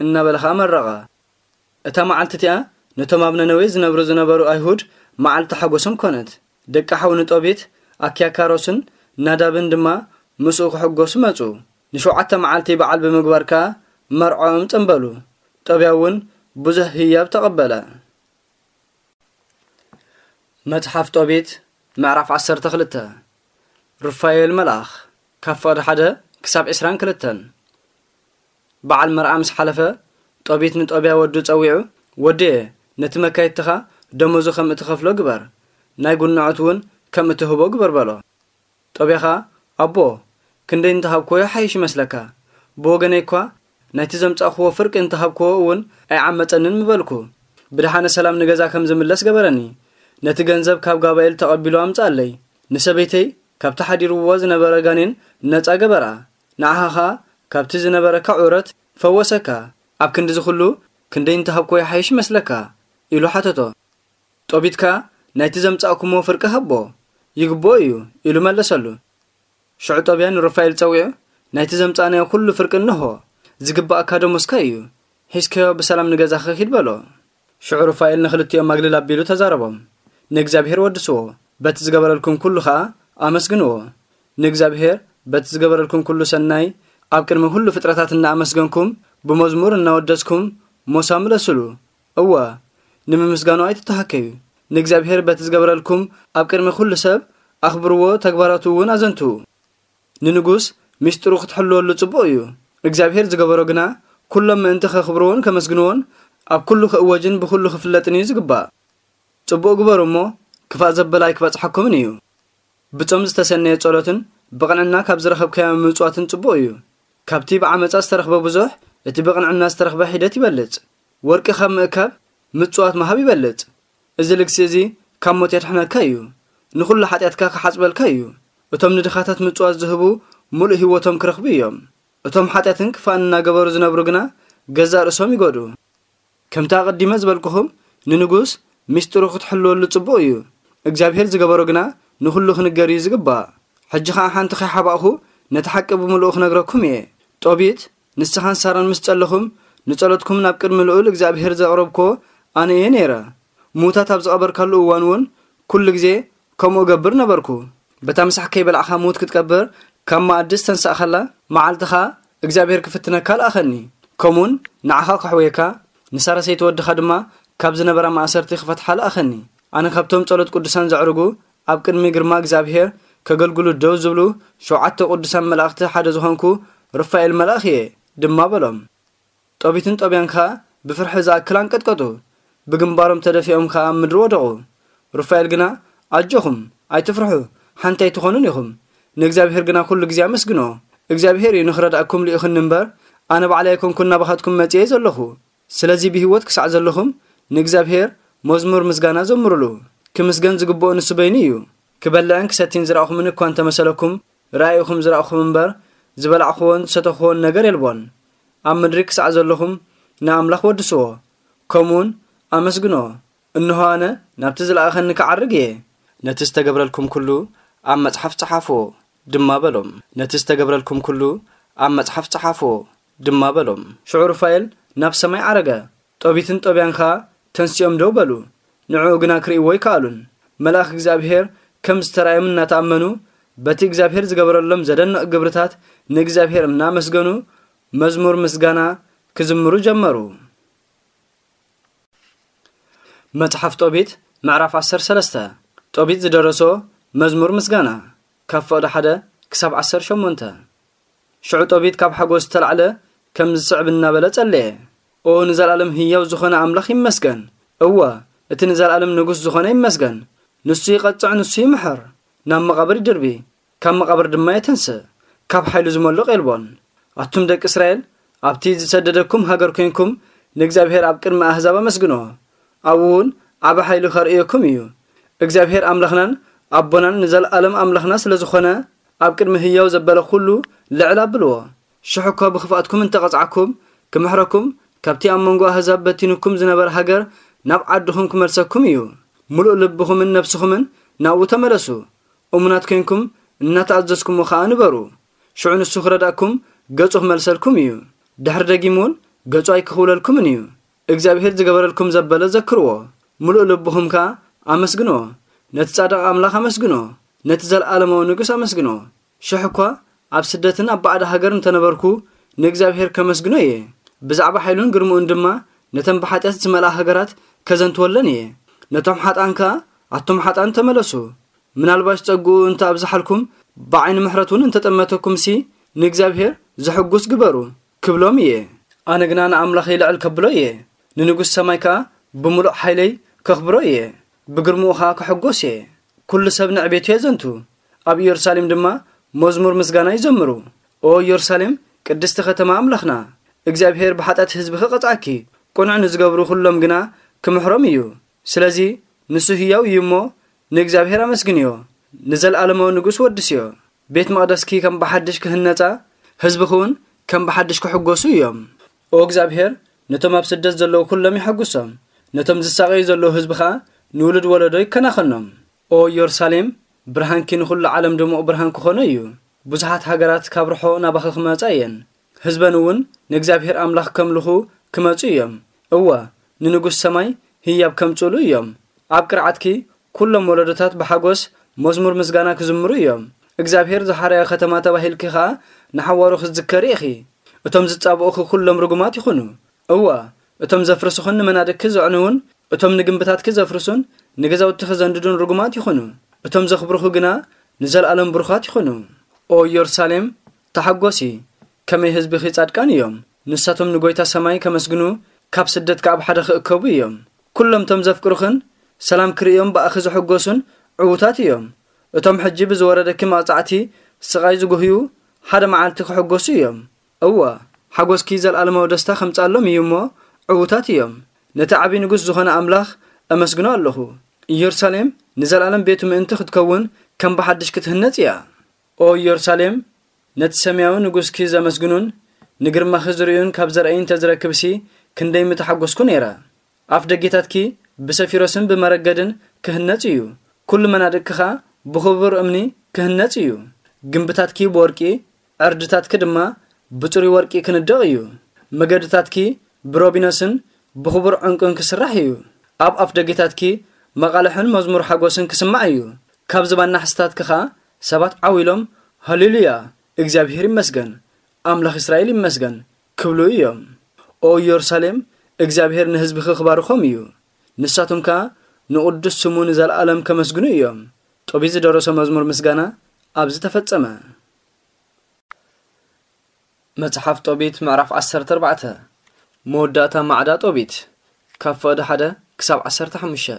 እናበለ ኸኣ መረቓ። እታ መዓልቲ እቲኣ ነቶም ኣብ ነነዌ ዝነብሩ ዝነበሩ ኣይሁድ መዓልቲ ሓጎሶም ኮነት። ደቂ ሓው ንጦቢት፣ ኣኪያካሮስን ናዳብን ድማ ምስኡ ክሕጎሱ መጹ። ንሸውዓተ መዓልቲ በዓል ብምግባር ከኣ መርዕኦም ጸንበሉ። ጦብያ እውን ብዙሕ ህያብ ተቐበለ። መጽሓፍ ጦቢት ምዕራፍ ዓሰርተ ክልተ። ሩፋኤል መልኣኽ ካብ ፍቕዲ ሓደ ክሳብ ዕስራን ክልተን። በዓል መርዓ ምስ ሓለፈ፣ ጦቢት ንጦብያ ወዱ ጸዊዑ፣ "ወደየ፣ ነቲ መካይድትኻ ደሞዙ ከም እትኸፍሎ ግበር፣ ናይ ጉንዖት እውን ከም እትህቦ ግበር" በሎ። ጦብያ ኸኣ፣ "ኣቦ፣ ክንደይ እንተሃብክዎ ይሓይሽ ይመስለካ? ብወገነይ እኳ ናይቲ ዘምጻእክዎ ፍርቂ እንተሃብክዎ እውን ኣይዓመጸንን ምበልኩ። ብደሓነ ሰላም ንገዛ ከም ዝምለስ ገበረኒ። ነቲ ገንዘብ ካብ ጋባኤል ተቐቢሉ ኣምጽኣለይ። ንሰበይተይ ካብቲ ሓዲርዎ ዝነበረ ጋኔን ነጻ ገበራ። ንዓኻ ኸኣ ካብቲ ዝነበረካ ዑረት ፈወሰካ። ኣብ ክንድዚ ኹሉ ክንደይ እንተሃብክዎ ይሓይሽ ይመስለካ?" ኢሉ ሓተቶ። ጦቢት ከኣ፣ "ናይቲ ዘምጻእኩሞ ፍርቂ ሃቦ፣ ይግብኦ እዩ" ኢሉ መለሰሉ። ሽዑ ጦብያ ንሩፋኤል ጸዊዑ፣ "ናይቲ ዘምጻእናዮ ኩሉ ፍርቂ እንሆ፣ ዝግብኣካ ደሞዝካ እዩ፣ ሒዝካዮ ብሰላም ንገዛኻ ኪድ" በሎ። ሽዑ ሩፋኤል ንኽልቲኦም ማግልል ኣቢሉ ተዛረቦም፣ "ንእግዚኣብሔር ወድስዎ፣ በቲ ዝገበረልኩም ኩሉ ኸኣ ኣመስግንዎ። ንእግዚኣብሔር በቲ ዝገበረልኩም ኩሉ ሰናይ ኣብ ቅድሚ ኩሉ ፍጥረታት እናኣመስገንኩም፣ ብመዝሙር እናወደስኩም ሞሳ ምለሱሉ። እወ፣ ንምምስጋኑ ኣይትተሃከዩ። ንእግዚኣብሔር በቲ ዝገበረልኩም ኣብ ቅድሚ ኩሉ ሰብ ኣኽብርዎ፣ ተግባራቱ እውን ኣዘንትዉ። ንንጉስ ምስጢሩ ክትሕልወሉ ጽቡቕ እዩ። እግዚኣብሔር ዝገበሮ ግና ኩሎም ምእንቲ ከኽብርዎን ከመስግንዎን ኣብ ኩሉ ክእወጅን ብኹሉ ክፍለጥን እዩ ዝግባእ። ጽቡቕ ግበሩ እሞ ክፋእ ዘበለ ኣይክበጽሓኩምን እዩ። ብጾም ዝተሰነየ ጸሎትን ብቕንዕና ካብ ዝረኸብካዮ ምጽዋትን ጽቡቕ እዩ። ካብቲ ብዓመጻ ዝተረኽበ ብዙሕ፣ እቲ ብቕንዕና ዝተረኽበ ሒደት ይበልጽ። ወርቂ ካብ ምእካብ ምጽዋት ምሃብ ይበልጽ። እዚ ልግሲ እዚ ካብ ሞት የድሕነካ እዩ። ንኹሉ ሓጢኣትካ ክሓጽበልካ እዩ። እቶም ንድኻታት ምጽዋት ዝህቡ ምሉእ ህይወቶም ክረኽቡ እዮም። እቶም ሓጢኣትን ክፋእን እናገበሩ ዝነብሩ ግና ገዛእ ርእሶም ይጎድኡ። ከምቲ ኣቐዲመ ዝበልኩኹም፣ ንንጉስ ምስጢሩ ክትሕልወሉ ጽቡቕ እዩ። እግዚኣብሔር ዝገበሮ ግና ንኹሉ ክንገር እዩ ዝግባእ። ሕጂ ኸኣ ሓንቲ ከይሓባእኹ ነቲ ሓቂ ብምሉኡ ክነግረኩም እየ። ጦቢት፣ ንስኻን ሳራን ምስ ጸለኹም፣ ንጸሎትኩም ናብ ቅድሚ ልዑል እግዚኣብሔር ዘቕረብክዎ ኣነ እየ ነይረ። ምዉታት ኣብ ዝቐበርካሉ እዋን እውን ኩሉ ግዜ ከምኡ እገብር ነበርኩ። በታ ምሳሕ ከይበላዕካ ምዉት ክትቀብር ካብ መኣዲ ዝተንሳእካላ መዓልቲ ኸኣ እግዚኣብሔር ክፍትነካ ለኣኸኒ። ከምኡውን ንዓኻ ከሕውየካ፣ ንሳራ ሰይቲ ወድኻ ድማ ካብ ዝነበራ ማእሰርቲ ክፈትሓ ለኣኸኒ። ኣነ ካብቶም ጸሎት ቅዱሳን ዘዕርጉ፣ ኣብ ቅድሚ ግርማ እግዚኣብሔር ከገልግሉ ደው ዝብሉ ሸውዓተ ቅዱሳን መላእኽቲ ሓደ ዝኾንኩ ሩፋኤል መልኣኽ እየ ድማ በሎም። ጦቢትን ጦብያን ከኣ ብፍርሒ ዝኣክል ኣንቀጥቀጡ፣ ብግንባሮም ተደፊኦም ከኣ ኣብ ምድሪ ወደቑ። ሩፋኤል ግና፣ "ኣጆኹም፣ ኣይትፍርሑ፣ ሓንቲ ኣይትኾኑን ኢኹም። ንእግዚኣብሔር ግና ኩሉ ግዜ ኣመስግኖ። እግዚኣብሔር እዩ ንኽረድኣኩም ልኢኹኒ እምበር፣ ኣነ ባዕለይ ኣይኮንኩን ናባኻትኩም መጺኤ ዘለኹ። ስለዚ ብህይወት ክሳዕ ዘለኹም ንእግዚኣብሔር መዝሙር ምስጋና ዘምሩሉ። ክምስገን ዝግብኦ ንሱ በይኑ እዩ። ክበልዕን ክሰቲን ዝረኣኹምን እኳ እንተመሰለኩም፣ ራእይኹም ዝረኣኹም እምበር፣ ዝበላዕኹዎን ዝሰተኹዎን ነገር የልቦን። ኣብ ምድሪ ክሳዕ ዘለኹም ንኣምላኽ ወድስዎ፣ ከምኡውን ኣመስግንዎ። እንሆ ኣነ ናብቲ ዝለኣኸኒ ክዓርግ እየ። ነቲ ዝተገብረልኩም ኩሉ ኣብ መጽሓፍ ጸሓፍዎ ድማ በሎም። ነቲ ዝተገብረልኩም ኩሉ ኣብ መጽሓፍ ጸሓፍዎ ድማ በሎም። ሽዑ ሩፋኤል ናብ ሰማይ ዓረገ። ጦቢትን ጦብያን ኸኣ ተንሲኦም ደው በሉ። ንዕኡ ግና ክርእይዎ ኣይከኣሉን። መልኣኽ እግዚኣብሔር ከም ዝተራእዮም እናተኣመኑ፣ በቲ እግዚኣብሔር ዝገበረሎም ዘደንቕ ግብርታት ንእግዚኣብሔር እናመስገኑ፣ መዝሙር ምስጋና ክዝምሩ ጀመሩ። መጽሓፍ ጦቢት ምዕራፍ ዓሰርተ ሰለስተ። ጦቢት ዝደረሶ መዝሙር ምስጋና፣ ካብ ፍቕዲ ሓደ ክሳብ ዓሰርተ ሸሞንተ። ሽዑ ጦቢት ካብ ሓጎስ ዝተላዕለ ከምዚ ዝስዕብ እናበለ ጸለየ። ኦ ንዘለኣለም ህያው ዝኾነ ኣምላኽ ይመስገን። እወ፣ እቲ ንዘለኣለም ንጉስ ዝኾነ ይመስገን። ንሱ ይቐጽዕ፣ ንሱ ይምሕር። ናብ መቓብር ይድርቢ፣ ካብ መቓብር ድማ የተንስእ። ካብ ሓይሉ ዝመልቕ የልቦን። ኣቱም ደቂ እስራኤል፣ ኣብቲ ዝሰደደኩም ሃገር ኮይንኩም ንእግዚኣብሔር ኣብ ቅድሚ ኣህዛብ ኣመስግኖ። ኣብኡ እውን ዓቢ ሓይሉ ከርእየኩም እዩ። እግዚኣብሔር ኣምላኽናን ኣቦናን ንዘለኣለም ኣምላኽና ስለ ዝኾነ፣ ኣብ ቅድሚ ህያው ዘበለ ኩሉ ልዕል ኣብልዎ። ሽሕ እኳ ብኽፍኣትኩም እንተቐጽዓኩም፣ ክምሕረኩም፣ ካብቲ ኣብ መንጎ ኣህዛብ በቲኑኩም ዝነበረ ሃገር ናብ ዓድኹም ክመልሰኩም እዩ። ምሉእ ልብኹምን ነፍስኹምን ናብኡ ተመለሱ። እሙናት ኮይንኩም እናተኣዘዝኩሞ ኸኣ ንበሩ። ሽዑ ንሱ ክረዳእኩም፣ ገጹ ክመልሰልኩም እዩ። ድሕሪ ደጊሙ እውን ገጹ ኣይክኽውለልኩምን እዩ። እግዚኣብሔር ዝገበረልኩም ዘበለ ዘክርዎ። ምሉእ ልብኹም ከኣ ኣመስግንዎ። ነቲ ጻድቕ ኣምላኽ ኣመስግንዎ። ነቲ ዘለኣለማዊ ንጉስ ኣመስግንዎ። ሽሕ እኳ ኣብ ስደትን ኣብ ባዕዲ ሃገር እንተነበርኩ፣ ንእግዚኣብሔር ከመስግኖ እየ። ብዛዕባ ሓይሉን ግርምኡን ድማ ነተን ብሓጢኣት ዝመልኣ ሃገራት ከዘንትወለን እየ። ነቶም ሓጥኣን ከኣ፣ ኣቱም ሓጥኣን ተመለሱ። ምናልባሽ ጸግኡ እንተ ኣብዝሓልኩም፣ ብዓይኒ ምሕረት እውን እንተጠመተኩምሲ፣ ንእግዚኣብሔር ዘሕጉስ ግበሩ፣ ክብሎም እየ። ኣነ ግና ንኣምላኸይ ልዕል ከብሎ እየ። ንንጉስ ሰማይ ከኣ ብምሉእ ሓይለይ ከኽብሮ እየ። ብግርምኡ ኸኣ ክሕጎስ እየ። ኩሉ ሰብ ንዕቤቱ የዘንቱ። ኣብ ኢየሩሳሌም ድማ መዝሙር ምስጋና ይዘምሩ። ኦ ኢየሩሳሌም፣ ቅድስቲ ከተማ ኣምላኽና፣ እግዚኣብሔር ብሓጢኣት ህዝቢ ክቐጽዓኪ፣ ቅኑዕ ንዝገብሩ ኩሎም ግና ክምሕሮም እዩ። ስለዚ ንሱ ህያው እዩ እሞ፣ ንእግዚኣብሔር ኣመስግንዮ። ንዘለኣለማዊ ንጉስ ወድስዮ። ቤት መቕደስኪ ከም ብሓድሽ ክህነጻ፣ ህዝብኺ እውን ከም ብሓድሽ ክሕጎሱ እዮም። ኦ እግዚኣብሔር፣ ነቶም ኣብ ስደት ዘለዉ ኩሎም የሐጉሶም። ነቶም ዝሳቐዩ ዘለዉ ህዝቢ ኸኣ ንውሉድ ወለዶ ይከናኸኖም። ኦ ኢየሩሳሌም፣ ብርሃንኪ ንኹሉ ዓለም ድሙቕ ብርሃን ክኾኖ እዩ። ብዙሓት ሃገራት ካብ ርሖ ናባኺ ክመጻ እየን። ህዝበን እውን ንእግዚኣብሔር ኣምላኽ ከምልኹ ክመጹ እዮም። እወ፣ ንንጉስ ሰማይ ህያብ ከምጽኡሉ እዮም። ኣብ ቅርዓትኪ ኩሎም ወለዶታት ብሓጎስ መዝሙር ምስጋና ክዝምሩ እዮም። እግዚኣብሔር ዝሓረያ ከተማ ተባሂልኪ ኸኣ ንሓዋሩ ክትዝከሪ ኢኺ። እቶም ዝጻብኡኺ ኩሎም ርጉማት ይኹኑ። እወ፣ እቶም ዘፍርስኹን ንመናድቅኪ ዘዕንዉን፣ እቶም ንግምብታትኪ ዘፍርሱን ንገዛውትኺ ዘንድዱን ርጉማት ይኹኑ። እቶም ዘኽብሩኺ ግና ንዘለኣለም ብሩኻት ይኹኑ። ኦ ኢየሩሳሌም፣ ተሓጎሲ፣ ከመይ ህዝብኺ ጻድቃን እዮም። ንሳቶም ንጎይታ ሰማይ ከመስግኑ፣ ካብ ስደት ከኣ ኣብ ሓደ ክእከቡ እዮም። ኩሎም እቶም ዘፍቅሩኽን ሰላም ክርእዮም ብኣኺ ዝሕጎሱን ዕዉታት እዮም። እቶም ሕጂ ብዝወረደኪ መቕጻዕቲ ስቓይ ዝጉህዩ ሓደ መዓልቲ ክሕጎሱ እዮም። እወ፣ ሓጎስኪ ዘለኣለማዊ ደስታ ከምጽኣሎም እዩ እሞ፣ ዕዉታት እዮም። ነቲ ዓቢ ንጉስ ዝኾነ ኣምላኽ ኣመስግኖ ኣለኹ። ኢየሩሳሌም ንዘለኣለም ቤቱ ምእንቲ ክትከውን ከም ብሓድሽ ክትህነጽ እያ። ኦ ኢየሩሳሌም፣ ነቲ ሰማያዊ ንጉስኪ ዘመስግኑን ንግርማኺ ዝርእዩን ካብ ዘርእይ እንተ ዝረክብሲ፣ ክንደይ ምተሓጎስኩ ነይረ። ኣፍ ደጌታትኪ ብሰፊሮስን ብመረገድን ክህነጽ እዩ። ኩሉ መናድቅኪ ኸኣ ብኽቡር እምኒ ክህነጽ እዩ። ግምብታትኪ ብወርቂ፣ ዕርድታትኪ ድማ ብጽሩይ ወርቂ ክንደቕ እዩ። መገድታትኪ ብሮቢኖስን ብኽቡር ዕንቁን ክስራሕ እዩ። ኣብ ኣፍ ደጌታትኪ መቓልሕን መዝሙር ሓጎስን ክስማዕ እዩ። ካብ ዝባን ናሕስታትኪ ኸኣ ሰባት ዓው ኢሎም፣ ሃሌሉያ፣ እግዚኣብሔር ይመስገን፣ ኣምላኽ እስራኤል ይመስገን ክብሉ እዮም። ኦ ኢየሩሳሌም፣ እግዚኣብሔር ንህዝብኺ ክባርኾም እዩ። ንሳቶም ከኣ ንቕዱስ ስሙ ንዘለኣለም ከመስግኑ እዮም። ጦቢት ዝደረሶ መዝሙር ምስጋና ኣብዚ ተፈጸመ። መጽሓፍ ጦቢት ምዕራፍ ዓሰርተ ኣርባዕተ። መወዳእታ ማዕዳ ጦቢት፣ ካብ ፍቕዲ ሓደ ክሳብ ዓሰርተ ሓሙሽተ።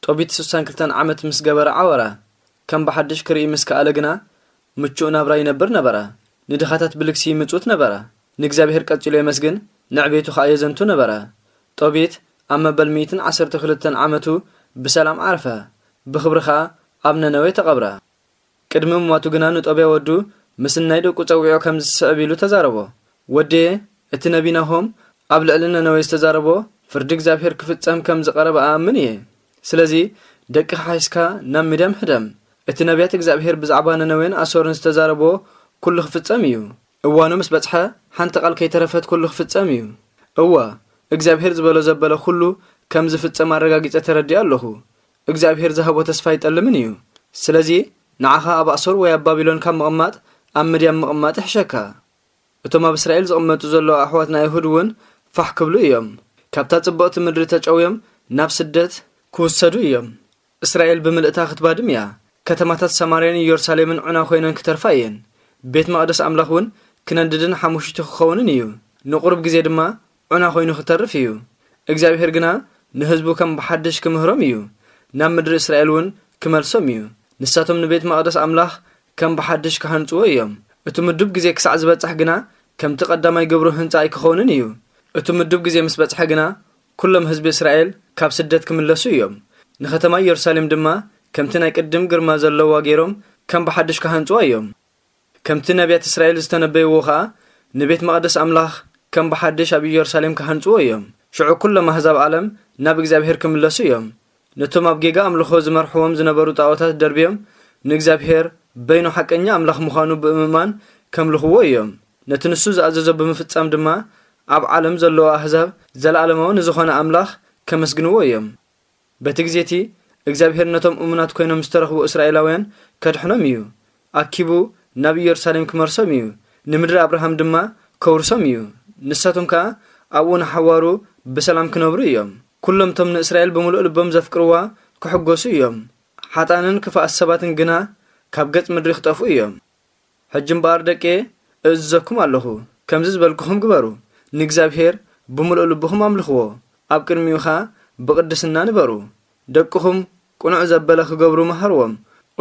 ጦቢት ስሳን ክልተን ዓመት ምስ ገበረ ዓወረ። ከም ብሓድሽ ክርኢ ምስ ከኣለ ግና፣ ምቹእ ናብራ ይነብር ነበረ። ንድኻታት ብልግሲ ይምጽውት ነበረ። ንእግዚኣብሔር ቀጺሉ የመስግን፣ ንዕቤቱ ኸኣ የዘንቱ ነበረ። ጦቢት ኣብ መበል ሚእትን ዓሰርተ ክልተን ዓመቱ ብሰላም ዓረፈ። ብኽብሪ ኸኣ ኣብ ነነዌ ተቐብረ። ቅድሚ ምሟቱ ግና ንጦብያ ወዱ ምስናይ ደቁ ጸዊዑ ከምዚ ስዕብ ኢሉ ተዛረቦ። ወደየ፣ እቲ ነቢ ናሆም ኣብ ልዕሊ ነነዌ ዝተዛረቦ ፍርዲ እግዚኣብሔር ክፍጸም ከም ዝቐረበ እኣምን እየ። ስለዚ ደቅኻ ሒዝካ ናብ ምድያም ህደም። እቲ ነቢያት እግዚኣብሔር ብዛዕባ ነነዌን ኣሶርን ዝተዛረቦ ኩሉ ክፍጸም እዩ። እዋኑ ምስ በጽሐ ሓንቲ ቃል ከይተረፈት ኩሉ ክፍጸም እዩ። እወ፣ እግዚኣብሔር ዝበሎ ዘበለ ኩሉ ከም ዝፍጸም ኣረጋጊጸ ተረዲኣ ኣለኹ። እግዚኣብሔር ዝሃቦ ተስፋ ኣይጠልምን እዩ። ስለዚ ንዓኻ ኣብ ኣሶር ወይ ኣብ ባቢሎን ካብ ምቕማጥ ኣብ ምድያም ምቕማጥ ይሕሸካ። እቶም ኣብ እስራኤል ዝቕመጡ ዘለዉ ኣሕዋትና ኣይሁድ እውን ፋሕ ክብሉ እዮም። ካብታ ጽብቕቲ ምድሪ ተጨውዮም ናብ ስደት ክውሰዱ እዮም። እስራኤል ብምልእታ ክትባድም እያ። ከተማታት ሰማርያን ኢየሩሳሌምን ዑና ኮይነን ክተርፋ እየን። ቤት መቕደስ ኣምላኽ እውን ክነድድን ሓሙሽቲ ክኸውንን እዩ። ንቑሩብ ግዜ ድማ ዑና ኮይኑ ክተርፍ እዩ። እግዚኣብሔር ግና ንህዝቡ ከም ብሓድሽ ክምህሮም እዩ። ናብ ምድሪ እስራኤል እውን ክመልሶም እዩ። ንሳቶም ንቤት መቕደስ ኣምላኽ ከም ብሓድሽ ክሃንጽዎ እዮም። እቲ ምዱብ ግዜ ክሳዕ ዝበጽሕ ግና ከምቲ ቀዳማይ ግብሩ ህንጻ ኣይክኸውንን እዩ። እቲ ምዱብ ግዜ ምስ በጽሐ ግና ኩሎም ህዝቢ እስራኤል ካብ ስደት ክምለሱ እዮም። ንኸተማ ኢየሩሳሌም ድማ ከምቲ ናይ ቅድም ግርማ ዘለዋ ገይሮም ከም ብሓድሽ ክሃንጽዋ እዮም። ከምቲ ነቢያት እስራኤል ዝተነበይዎ ኸኣ ንቤት መቕደስ ኣምላኽ ከም ብሓድሽ ኣብ ኢየሩሳሌም ክሃንጽዎ እዮም። ሽዑ ኩሎም ኣህዛብ ዓለም ናብ እግዚኣብሔር ክምለሱ እዮም። ነቶም ኣብ ጌጋ ኣምልኾ ዝመርሕዎም ዝነበሩ ጣኦታት ደርብዮም ንእግዚኣብሔር በይኑ ሓቀኛ ኣምላኽ ምዃኑ ብምእማን ከምልኽዎ እዮም። ነቲ ንሱ ዝኣዘዞ ብምፍጻም ድማ ኣብ ዓለም ዘለዉ ኣህዛብ ዘለኣለማዊ ንዝኾነ ኣምላኽ ከመስግንዎ እዮም። በቲ ግዜ እቲ እግዚኣብሔር ነቶም እሙናት ኮይኖም ዝተረኽቡ እስራኤላውያን ከድሕኖም እዩ። ኣኪቡ ናብ ኢየሩሳሌም ክመርሶም እዩ። ንምድሪ ኣብርሃም ድማ ከውርሶም እዩ። ንሳቶም ከኣ ኣብኡ ንሓዋሩ ብሰላም ክነብሩ እዮም። ኩሎም እቶም ንእስራኤል ብምሉእ ልቦም ዘፍቅርዋ ክሕጎሱ እዮም። ሓጣንን ክፋኣት ሰባትን ግና ካብ ገጽ ምድሪ ክጠፍኡ እዮም። ሕጂ እምበኣር ደቄ እእዝዘኩም ኣለኹ፣ ከምዚ ዝበልኩኹም ግበሩ። ንእግዚኣብሔር ብምሉእ ልብኹም ኣምልኽዎ፣ ኣብ ቅድሚኡ ኸኣ ብቕድስና ንበሩ። ደቅኹም ቅኑዕ ዘበለ ክገብሩ መሃርዎም።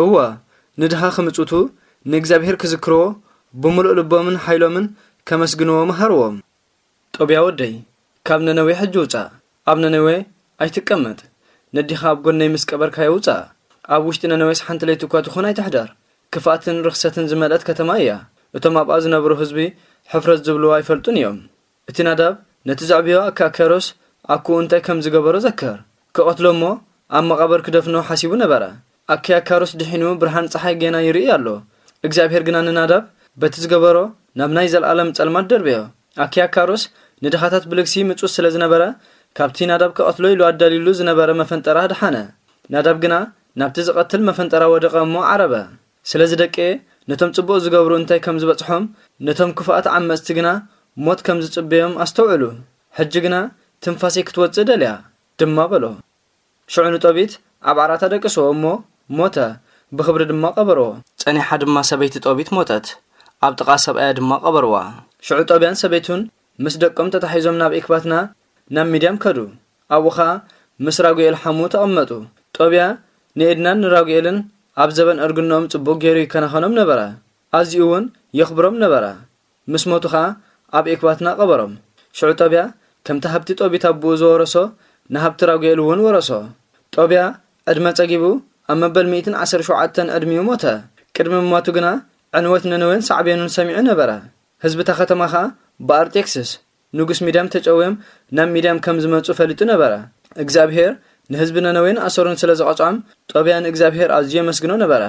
እወ፣ ንድኻ ክምጽቱ ንእግዚኣብሔር ክዝክርዎ ብምሉእ ልቦምን ሓይሎምን ከመስግንዎ መሃርዎም። ጦብያ ወደይ፣ ካብ ነነዌ ሕጂ ውጻእ። ኣብ ነነዌ ኣይትቀመጥ። ነዲኻ ኣብ ጎነይ ምስ ቀበርካዮ ውጻእ። ኣብ ውሽጢ ነነዌስ ሓንቲ ለይቲ እኳ ትኹን ኣይትሕደር። ክፍኣትን ርኽሰትን ዝመልአት ከተማ እያ። እቶም ኣብኣ ዝነብሩ ህዝቢ ሕፍረት ዝብልዋ ኣይፈልጡን እዮም። እቲ ናዳብ ነቲ ዘዕብዮ ኣኪያካሮስ ኣኩኡ እንታይ ከም ዝገበሮ ዘከር። ክቐትሎ እሞ ኣብ መቓብር ክደፍኖ ሓሲቡ ነበረ። ኣኪያካሮስ ድሒኑ ብርሃን ጸሓይ ጌና ይርኢ ኣሎ። እግዚኣብሔር ግና ንናዳብ በቲ ዝገበሮ ናብ ናይ ዘለኣለም ጸልማት ደርብዮ። ኣኪያካሮስ ንድኻታት ብልግሲ ምጹስ ስለ ዝነበረ፣ ካብቲ ናዳብ ክቐትሎ ኢሉ ኣዳልዩሉ ዝነበረ መፈንጠራ ኣድሓነ። ናዳብ ግና ናብቲ ዝቐትል መፈንጠራ ወደቐ እሞ ዓረበ። ስለዚ ደቂ፣ ነቶም ጽቡቕ ዝገብሩ እንታይ ከም ዝበጽሖም፣ ነቶም ክፉኣት ዓመጽቲ ግና ሞት ከም ዝጽበዮም ኣስተውዕሉ። ሕጂ ግና ትንፋሰይ ክትወጽእ ደልያ፣ ድማ በሎ። ሽዑ ንጦቢት ኣብ ዓራታ ደቅስዎ እሞ ሞተ፣ ብኽብሪ ድማ ቀበርዎ። ጸኒሓ ድማ ሰበይቲ ጦቢት ሞተት፣ ኣብ ጥቓ ሰብኣያ ድማ ቀበርዋ። ሽዑ ጦብያን ሰበይቱን ምስ ደቆም ተታሒዞም ናብ ኤክባትና ናብ ሚድያም ከዱ። ኣብኡ ኸኣ ምስ ራጉኤል ሓሙ ተቐመጡ። ጦብያ ንኤድናን ንራጉኤልን ኣብ ዘበን እርግንኦም ጽቡቕ ገይሩ ይከናኸኖም ነበረ፣ ኣዝዩ እውን የኽብሮም ነበረ። ምስ ሞቱ ኸኣ ኣብ ኤክባትና ቀበሮም። ሽዑ ጦብያ ከምቲ ሃብቲ ጦቢት ኣቦኡ ዝወረሶ ንሃብቲ ራጉኤል እውን ወረሶ። ጦብያ ዕድመ ጸጊቡ ኣብ መበል ሚእትን ዓሰርተ ሸውዓተን ዕድሚኡ ሞተ። ቅድሚ ምሟቱ ግና ዕንወት ነነዌን ሳዕቤኑን ሰሚዑ ነበረ። ህዝቢ እታ ከተማ ኸኣ ብኣርጤክስስ ንጉስ ሚድያም ተጨውዮም ናብ ሚድያም ከም ዝመጹ ፈሊጡ ነበረ። እግዚኣብሔር ንህዝቢ ነነዌን ኣሶርን ስለ ዝቐጽዖም፣ ጦብያ ንእግዚኣብሔር ኣዝዩ የመስግኖ ነበረ።